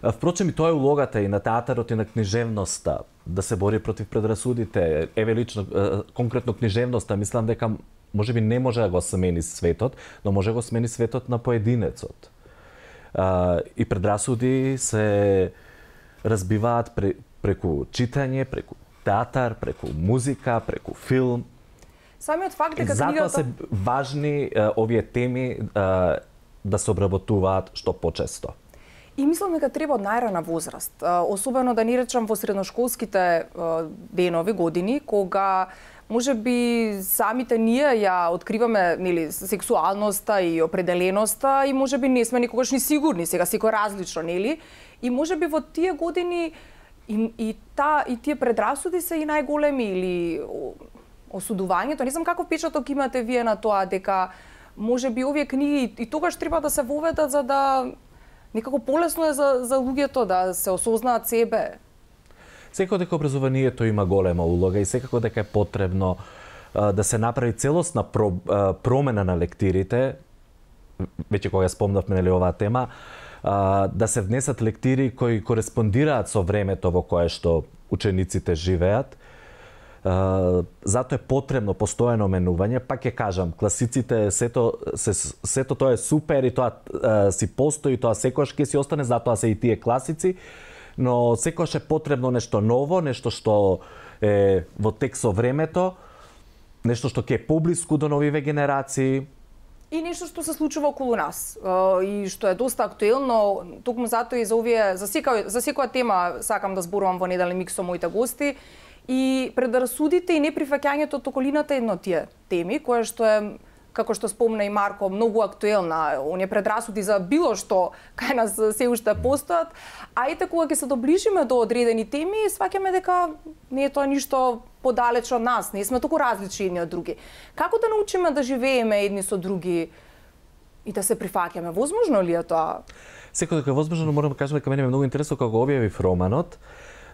да. Впрочем, и тоа е улогата и на театарот и на книжевноста, да се бори против предрасудите. Еве лично, конкретно книжевноста, мислам дека можеби не може да го смени светот, но може да го смени светот на поединецот. И предрасуди се разбиваат преку читање, преку театар, преку музика, преку филм.
Самиот факт дека
затоа
книгата...
се важни а, овие теми а, да се обработуваат што почесто.
И мислам дека треба од најрана возраст, особено да ни речам во средношколските денови, години, кога може би самите ние ја откриваме, нели, сексуалноста и определеноста и може би не сме никогаш ни сигурни, сега секој различно, нели? И може би во тие години и, и, та, и тие предрасуди се и најголеми или осудувањето. Не знам каков печаток имате вие на тоа дека може би овие книги и тогаш треба да се воведат за да некако полесно е за, за луѓето да се осознаат себе.
Секако дека образованието има голема улога и секако дека е потребно а, да се направи целосна про, а, промена на лектирите, веќе кога ја спомнавме, нели, оваа тема, а, да се внесат лектири кои кореспондираат со времето во кое што учениците живеат, Uh, затоа е потребно постојано менување, пак ќе кажам, класиците сето се, сето тоа е супер и тоа uh, си постои, тоа секогаш ќе си остане, затоа се и тие класици, но секогаш е потребно нешто ново, нешто што е во тек со времето, нешто што ќе е поблиску до новиве генерации.
И нешто што се случува околу нас и што е доста актуелно, токму затоа и за овие за секоја за секоја тема сакам да зборувам во Неделен микс со моите гости. И предразсудите и неприфаќањето од околината е едно од тие теми, кое што е, како што спомна и Марко, многу актуелна. Оние предрасуди за било што кај нас се уште постојат, а ете кога ќе се доближиме до одредени теми, сваќаме дека не е тоа ништо подалеч од нас, не сме толку различни едни од други. Како да научиме да живееме едни со други и да се прифаќаме? Возможно ли е тоа?
Секој дека е возможно, морам да кажам дека мене ме многу интересно кога го објавив романот,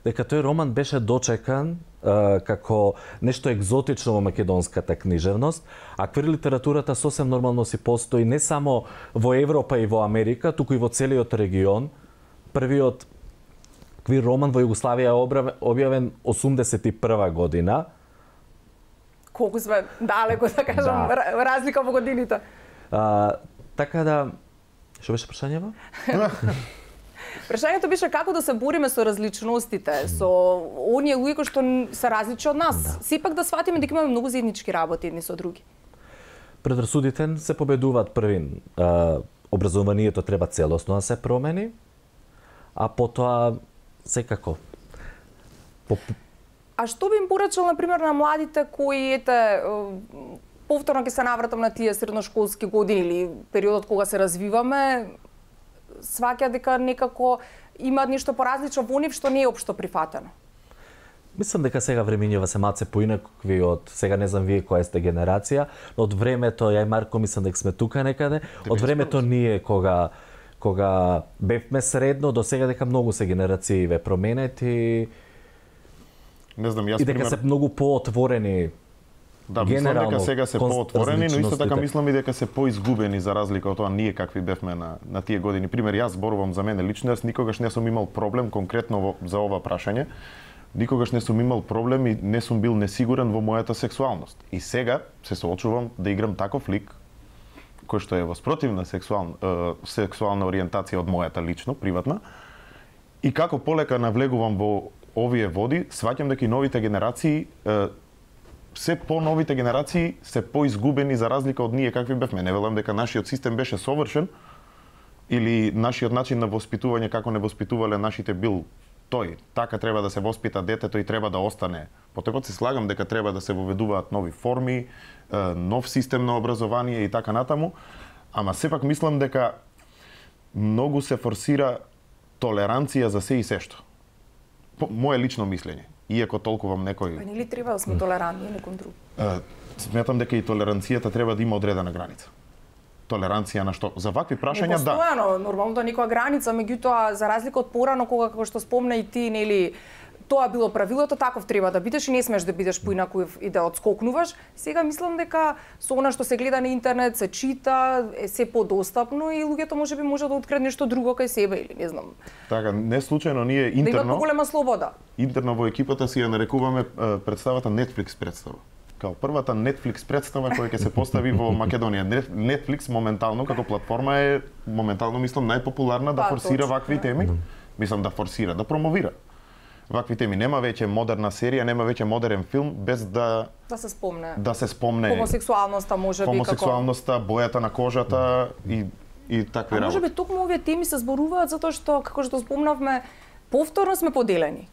дека тој роман беше дочекан е, како нешто екзотично во македонската книжевност, а квир литературата сосем нормално си постои не само во Европа и во Америка, туку и во целиот регион. Првиот квир роман во Југославија е објавен осумдесет и прва година.
Колку сме далеко, да кажам, да. Разлика во годините.
А, така да, што беше прашањето?
Прашањето беше како да се бориме со различностите, со оние луѓе кои што се различни од нас. Да. Сепак да сватиме дека имаме многу заеднички работи едни со други.
Предрасудите се победуваат првин. А, образованието треба целосно да се промени, а потоа секако. По...
А што би им порачал, например, на младите кои, ете, повторно ќе се навратам на тие средношколски години или периодот кога се развиваме, сваќа дека некако имаат нешто поразлично во нив што не е општо прифатено?
Мислам дека сега времињава се малце поинакви од, сега не знам вие која сте генерација, но од времето, ја и Марко мислам дека сме тука некаде, од времето ние кога кога бевме средно до сега дека многу се генерацииве променети.
Не знам, јас
и дека
пример...
се многу поотворени.
Да, мислам дека сега се поотворени, но исто така мислам и дека се поизгубени за разлика од тоа ние какви бевме на на тие години. Пример, јас зборувам за мене лично, јас никогаш не сум имал проблем конкретно во, за ова прашање. Никогаш не сум имал проблем и не сум бил несигурен во мојата сексуалност. И сега се соочувам да играм таков лик кој што е во спротивна сексуална е, сексуална ориентација од мојата лично, приватна. И како полека навлегувам во овие води, сваќам дека и новите генерации е, се по-новите генерации се поизгубени за разлика од ние какви бевме. Не велам дека нашиот систем беше совршен или нашиот начин на воспитување како не воспитувале нашите бил тој. Така треба да се воспита детето и треба да остане. Потекот се слагам дека треба да се воведуваат нови форми, нов систем на образование и така натаму, ама сепак мислам дека многу се форсира толеранција за се и сешто. Моje лично мислење. Иако толкувам некој...
Па нели треба да сме толерантни некон друг?
Сметам дека и толеранцијата треба да има одредена граница. Толеранција на што? За вакви прашања, да.
Постојано, нормално да некоја граница, меѓутоа за разлика од порано кога како што спомна и ти, нели, тоа било правилото, таков треба да бидеш и не смеш да бидеш поинаков и да отскокнуваш. Сега мислам дека со она што се гледа на интернет, се чита, е се подостапно и луѓето можеби може да откријат нешто друго кај себе или не знам.
Така, не случајно ние интерно...
Да имат поголема слобода.
Интерно во екипата си ја нарекуваме представата Netflix представа. Као првата Netflix представа која ќе се постави во Македонија. Netflix моментално како платформа е моментално мислам најпопуларна да форсира вакви теми. Мислам да форсира, да промовира вакви теми. Нема веќе модерна серија, нема веќе модерен филм без да
да се спомне.
Да се спомне
хомосексуалноста можеби како
хомосексуалноста, бојата на кожата и и такви работи.
А можеби токму овие теми се зборуваат затоа што како што спомнавме повторно сме поделени.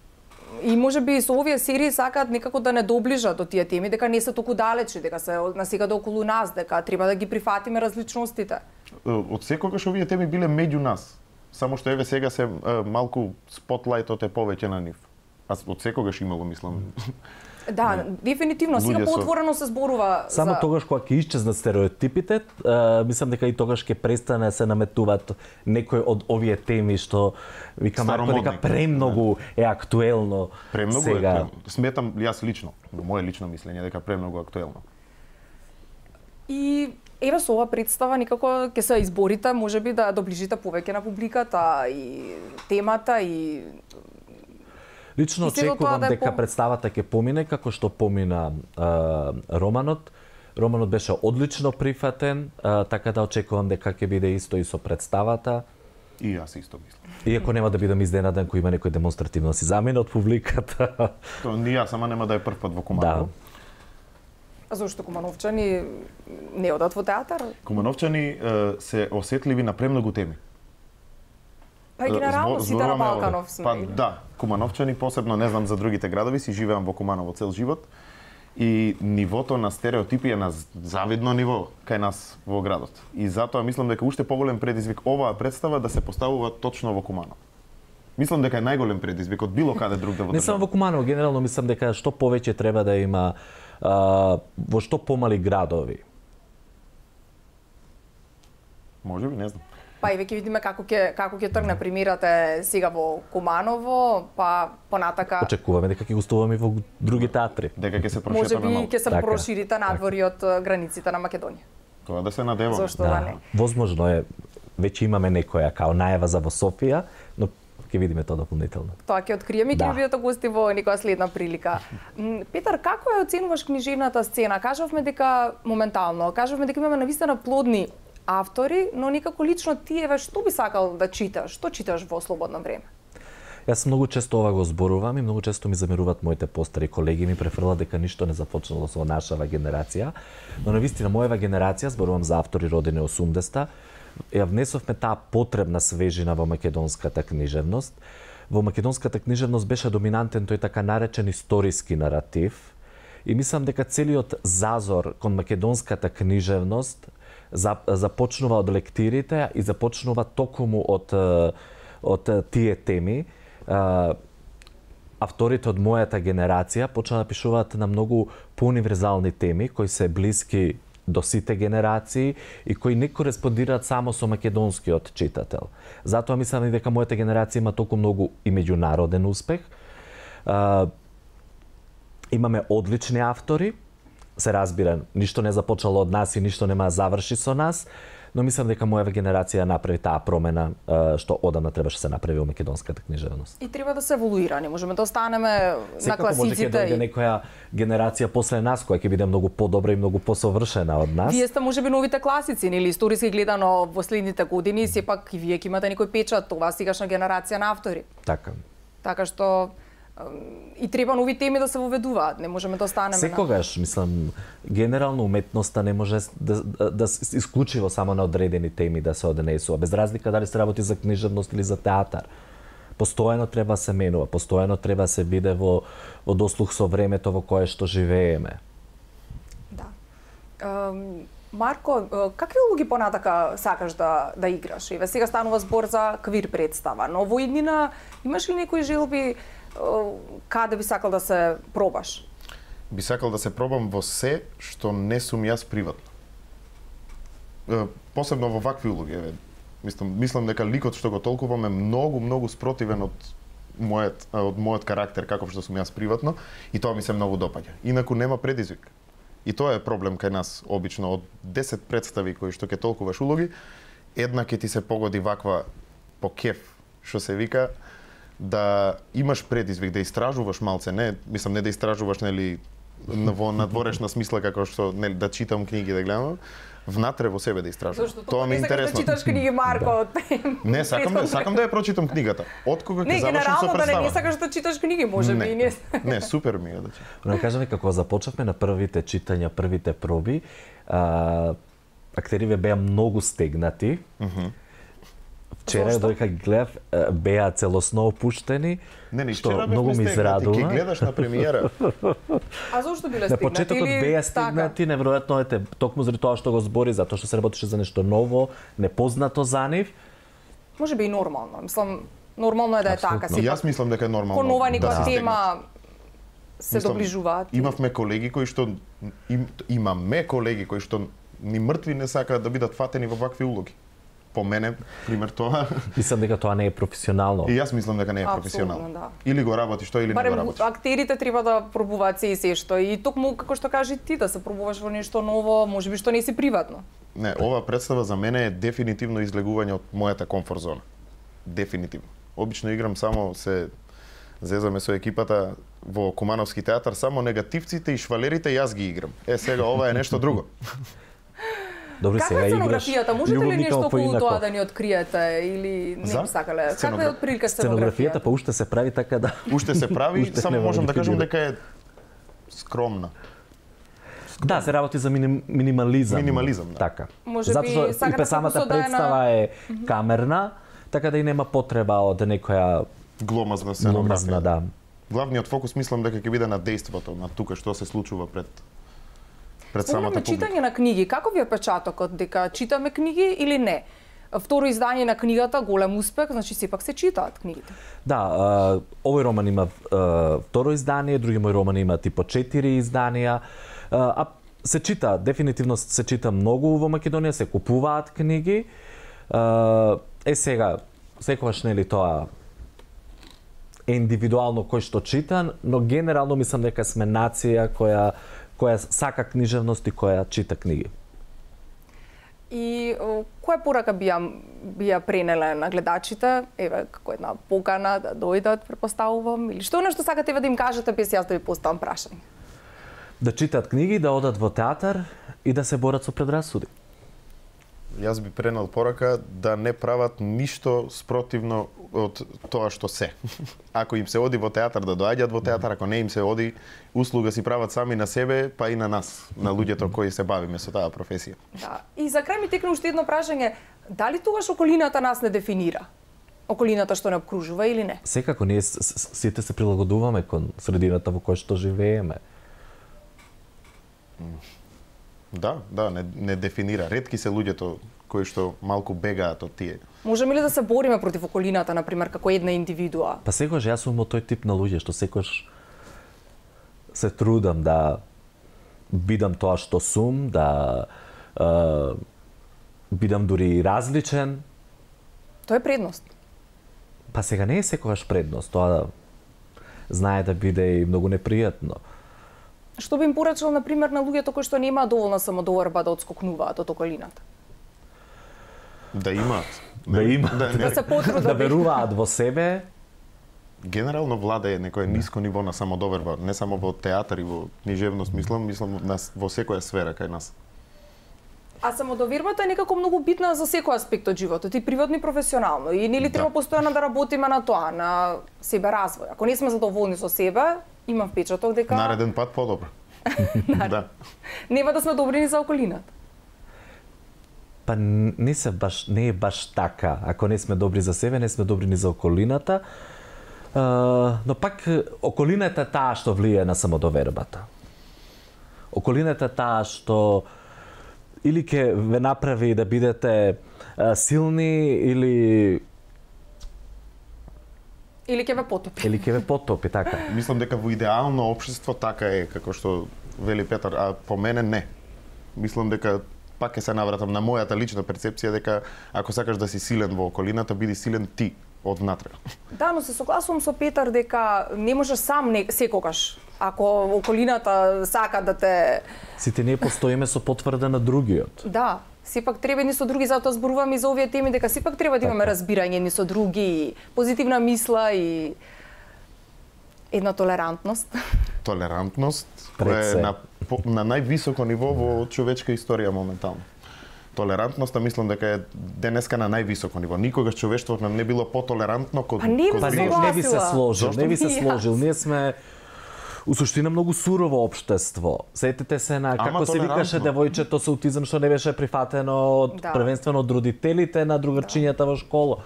И можеби со овие серии сакаат некако да не доближат до тие теми, дека не се толку далечи, дека се насегаде околу нас, дека треба да ги прифатиме различностите.
Од секогаш овие теми биле меѓу нас. Само што еве сега се малку спотлајтот е повеќе на нив. Аз од секогаш имало, мислам.
Да, дефинитивно, сега поотворено се зборува
само
за...
тогаш кога ќе исчезнат стереотипите, а, мислам дека и тогаш ќе престане се наметуваат некои од овие теми што вика Марко дека премногу е актуелно
премногу
сега.
Е актуелно. Сметам јас лично, во мое лично мислење дека премногу актуелно.
И еве со ова представа некако ќе се изборите, можеби да доближите повеќе на публиката и темата и
Лично очекувам да дека пом... представата ќе помине како што помина а, романот. Романот беше одлично прифатен, а, така да очекувам дека ќе биде исто и со представата.
И јас исто мислам.
Иако нема да бидам изненаден кој има некој демонстративно си замена од публиката.
Тоа ни јас, ама нема да е прв пат во Куманово.
Да.
А зошто кумановчани не одат во театар?
Кумановчани е, се осетливи на премногу теми.
Па и генерално сите на Балканов сме.
Па да, кумановчани посебно, не знам за другите градови, си живеам во Куманово цел живот. И нивото на стереотипи е на завидно ниво кај нас во градот. И затоа мислам дека уште поголем предизвик оваа представа да се поставува точно во Куманово. Мислам дека е најголем предизвик од било каде другаде во државата.
Не само во Куманово, генерално мислам дека што повеќе треба да има а, во што помали градови.
Може би, не знам.
Па и веќе видиме како ќе како ќе тргне премирате сега во Куманово, па понатака
Очекуваме дека ќе гостуваме во други театри.
Дека ќе се
може
прошетаме
би
малку.
ќе се
Така.
проширите надвори од границите на Македонија.
Тоа да се надеваме.
Зошто да, не?
Возможно е, веќе имаме некоја као најава за во Софија, но ќе видиме тоа дополнително.
Тоа ќе откриеме и ќе
Да.
бидете гости во некоја следна прилика. М, Петар, како ја оценуваш книжевната сцена? Кажавме дека моментално, кажавме дека имаме навистина плодни автори, но некако лично ти еве што би сакал да читаш? Што читаш во слободно време?
Јас многу често ова го зборувам и многу често ми замеруваат моите постари колеги, ми префрлат дека ништо не започнало со нашава генерација, но навистина мојава генерација, зборувам за автори родени осумдесета, ја внесовме таа потребна свежина во македонската книжевност. Во македонската книжевност беше доминантен тој така наречен историски наратив и мислам дека целиот зазор кон македонската книжевност започнува од лектирите и започнува токму од од тие теми. Авторите од мојата генерација почнаа да пишуваат на многу поуниверзални теми кои се блиски до сите генерации и кои не кореспондираат само со македонскиот читател. Затоа мислам и дека мојата генерација има толку многу и меѓународен успех. Имаме одлични автори, се разбира, ништо не започнало од нас и ништо нема да заврши со нас, но мислам дека мојава генерација направи таа промена што одамна требаше се направи во македонската книжевност.
И треба да се еволуира, не можеме да останеме на класиците.
Може ќе дојде некоја генерација после нас која ќе биде многу подобра и многу посовршена од нас.
Вие сте можеби новите класици, нели историски гледано во следните години, сепак и вие ќе имате некој печат, ова сегашна генерација на автори.
Така.
Така што и треба нови теми да се воведуваат, не можеме да останеме.
Секогаш, мислам, генерално уметноста не може да, да, да исклучиво само на одредени теми да се однесува, без разлика дали се работи за книжевност или за театар. Постојано треба се менува, постојано треба се биде во, во дослух со времето во кое што живееме.
Да. Um... Марко, какви улоги понатака сакаш да да играш? Еве сега станува збор за квир представа, но во иднина имаш ли некои желби каде би сакал да се пробаш?
Би сакал да се пробам во се што не сум јас приватно. Посебно во вакви улоги, еве. Мислам, мислам дека ликот што го толкувам е многу многу спротивен од мојот од мојот карактер каков што сум јас приватно и тоа ми се многу допаѓа. Инаку нема предизвик. И тоа е проблем кај нас обично од десет представи кои што ќе толкуваш улоги, една ќе ти се погоди ваква по кеф, што се вика, да имаш предизвик, да истражуваш малце, не, мислам не да истражуваш нели во надворешна смисла како што нели да читам книги да гледам, внатре во себе да истражувам. Тоа ми е интересно.
Да читаш книги, Марко.
Не, сакам да сакам да ја прочитам книгата. Од кога ќе завршам со представа. Не, генерално да не сакаш
да читаш книги, можеби и не.
Не, супер ми е да читам.
Но кажаме како започнавме на првите читања, првите проби, а, актериве беа многу стегнати.
Mm-hmm.
Вчера додека гледав беа целосно опуштени,
не, не,
што многу ми израдува.
Ќе гледаш на премиера.
А зошто биле стегнати?
На почетокот беа стегнати, неверојатно ете, токму заради тоа што го збори, затоа што се работеше за нешто ново, непознато за нив.
Можеби и нормално. Мислам, нормално е да е така.
Јас мислам дека е нормално.
Кон нова некоја тема се доближуваат.
Имавме колеги кои што им, имаме колеги кои што ни мртви не сакаат да бидат фатени во вакви улоги. По мене, пример тоа.
Мислам дека тоа не е професионално.
И јас мислам дека не е професионално.
Да.
Или го работиш тоа или
Барем,
не го работиш.
Актерите треба да пробуваат се и се што и токму како што кажи ти да се пробуваш во нешто ново, можеби што не си приватно.
Не, ова представа за мене е дефинитивно излегување од мојата комфорт зона. Дефинитивно. Обично играм само се Зезаме со екипата во Кумановски театар, само негативците и швалерите јас ги играм. Е, сега ова е нешто друго.
Добре,
Каква
сега
е
играш
сценографијата? Можете ли
љубовника
нешто околу
поинако.
тоа да ни откриете или не
За?
би сакале? Каква
Сценограф-
е отприлика
Сценографијата
сценографијата?
па уште се прави така да
Уште се прави,
Уште
само
нема
можам да кажам
дефинира.
дека е скромна.
Да, се работи за миним, минимализам.
Минимализам, да.
Така.
Може
Затоа
би
што
сакате
и самата
фокусот да е на-
представа е камерна, така да и нема потреба од некоја
Гломазна сценографија.
гломазна, да.
Главниот фокус мислам дека ќе биде на дејството, на тука што се случува пред пред самата
Спомнаме
публика.
читање на книги. Каков е печатокот? Дека читаме книги или не? Второ издање на книгата, голем успех, значи сепак се читаат книгите.
Да, а, овој роман има а, второ издание, други мои романи имаат и по четири изданија. А, а се чита, дефинитивно се чита многу во Македонија, се купуваат книги. А, е сега, секогаш нели тоа е индивидуално кој што чита, но генерално мислам дека сме нација која која сака книжевност и која чита книги.
И о, која порака би ја, би ја пренеле на гледачите? Еве, како една покана да дојдат, претпоставувам, или што е нешто сакате да им кажете без јас да ви поставам прашање?
Да читаат книги, да одат во театар и да се борат со предрасуди.
Јас би пренел порака да не прават ништо спротивно од тоа што се. Ако им се оди во театар, да доаѓаат во театар, ако не им се оди, услуга си прават сами на себе, па и на нас, на луѓето кои се бавиме со таа професија.
Да. И за крај ми текна уште едно прашање. Дали тогаш околината нас не дефинира? Околината што не обкружува или не?
Секако ние с- с- сите се прилагодуваме кон средината во која што живееме.
Да, да, не, не дефинира. Ретки се луѓето кои што малку бегаат од тие.
Можеме ли да се бориме против околината, например, како една индивидуа?
Па секогаш јас сум од тој тип на луѓе што секогаш се трудам да бидам тоа што сум, да е, бидам дури различен.
Тоа е предност.
Па сега не е секогаш предност, тоа знае да биде и многу непријатно.
Што би им порачал, например, на луѓето кои што немаат доволна самодоверба да одскокнуваат од околината?
Да имаат.
Да има,
Да,
Да се потрудат
да веруваат во себе.
Генерално владее некое ниско ниво на самодоверба, не само во театар и во книжевност, мислам, мислам на, во секоја сфера кај нас.
А самодовербата е некако многу битна за секој аспект од животот, и приватно и професионално. И нели треба
Да.
постојано да работиме на тоа, на себе развој. Ако не сме задоволни со себе, имам впечаток дека
Нареден пат подобро. Да.
нема да сме добри ни за околината.
Па не се баш не е баш така. Ако не сме добри за себе, не сме добри ни за околината. Uh, но пак околината е таа што влие на самодовербата. Околината е таа што или ќе ве направи да бидете uh, силни или
Или ќе ве потопи.
или ќе ве потопи, така.
Мислам дека во идеално општество така е, како што вели Петар, а по мене не. Мислам дека пак ќе се навратам на мојата лична перцепција дека ако сакаш да си силен во околината, биди силен ти од внатре.
Да, но се согласувам со Петар дека не можеш сам не, секогаш. Ако околината сака да те...
Сите ние постоиме со потврда на другиот.
Да, сепак треба ни со други, затоа зборуваме и за овие теми, дека сепак треба да имаме разбирање ни со други, позитивна мисла и една толерантност.
Толерантност,
Пред
која
се.
е на, по- на највисоко ниво во човечка историја моментално. Толерантноста мислам дека е денеска на највисоко ниво. Никогаш човештвото не било потолерантно кон
Па не би
кон
Па
се
не,
другите.
не би се
согласила.
сложил,
Зошто?
не би се
И јас.
сложил. Ние сме у суштина многу сурово општество. Сетете се на како се
толерантно.
викаше девојчето со аутизам што не беше прифатено од
Да.
првенствено од родителите на другарчињата во школа.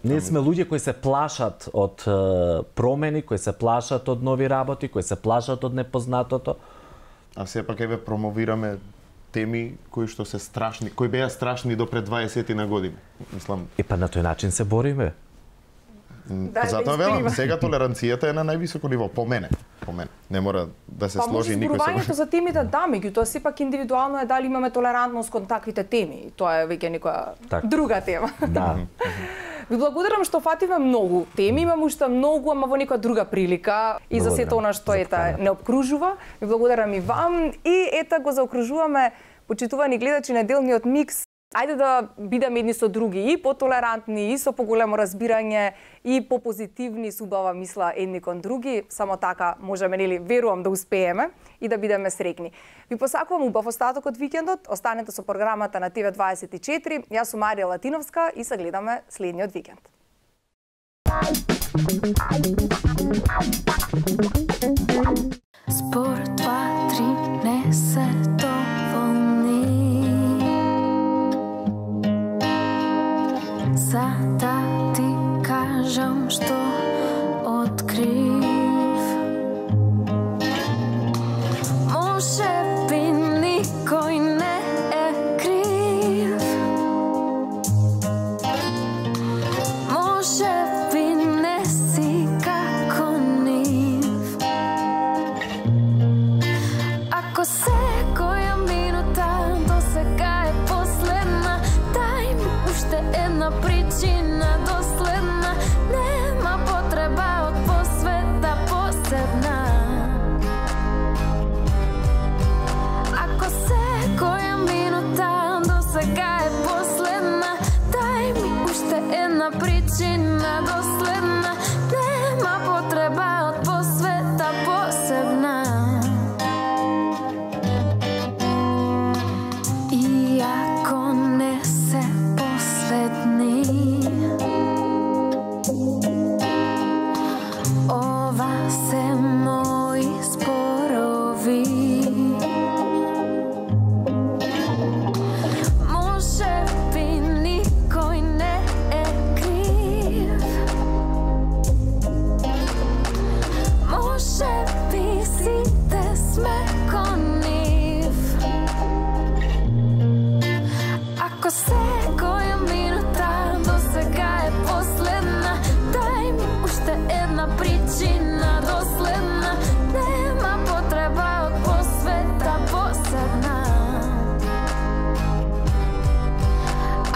Ние сме луѓе кои се плашат од е, промени, кои се плашат од нови работи, кои се плашат од непознатото.
А сепак еве промовираме теми кои што се страшни, кои беа страшни до пред дваесет на години. Мислам,
И па на тој начин се бориме.
Да,
затоа
да
велам,
исприва.
сега толеранцијата е на највисоко ниво, по мене, по мене. Не мора да се
Па може
сложи никој
зборувањето
со...
за темите да, меѓутоа сепак индивидуално е дали имаме толерантност кон таквите теми. И тоа е веќе некоја
Така.
друга тема.
Да.
Ви благодарам што фатиме многу теми, имам уште многу, ама во некоја друга прилика и за сето
Благодарам
она што
за
ета
поканата.
не обкружува. Ви благодарам и вам и ета го заокружуваме почитувани гледачи неделниот микс Ајде да бидеме едни со други и потолерантни, и со поголемо разбирање, и попозитивни, со убава мисла едни кон други. Само така можеме, нели, верувам да успееме и да бидеме среќни. Ви посакувам убав остаток од викендот. Останете со програмата на Т В дваесет и четири. Јас сум Марија Латиновска и се гледаме следниот викенд.
Спор два, три, не се доволни. За да ти кажам што открив. Може би никој не е крив. Може би не си како нив. Ако секоја минута до сега е последна, дај ми уште една причина доследна. Нема потреба од посвета посебна. Ако секоја минута до сега е последна, дај ми уште една причина доследна. Нема потреба од посвета посебна. И ако не се последни, ова се мои спорови. Може би никој не е крив. Може би сите сме кон нив. Ако секоја минута до сега е последна, дај ми уште една причина доследна. Нема потреба од посвета посебна.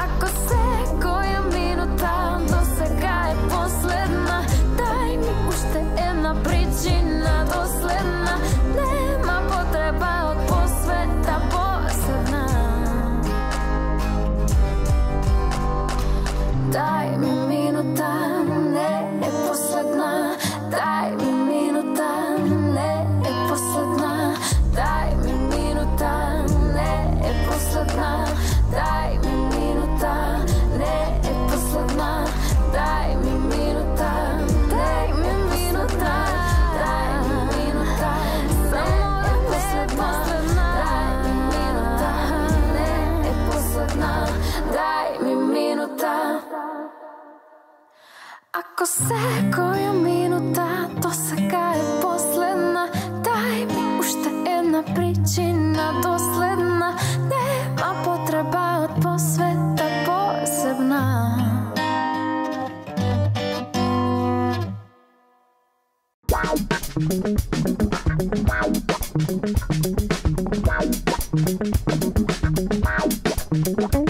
Ако секоја минута до сега е последна, дај ми уште една причина доследна. Нема потреба од посвета посебна. Дај ми минута, не е последна. Дај ми минута, не е последна. Дај ми минута, не е последна. Дај ми минута, не е последна. Дај ми минута, дај ми минута, дај ми минута, само да не е последна. Дај ми минута, не е последна. Дај ми минута. Ако секоја минута до сега е последна, дај ми уште една причина доследна. Нема потреба од посвета посебна.
Wow.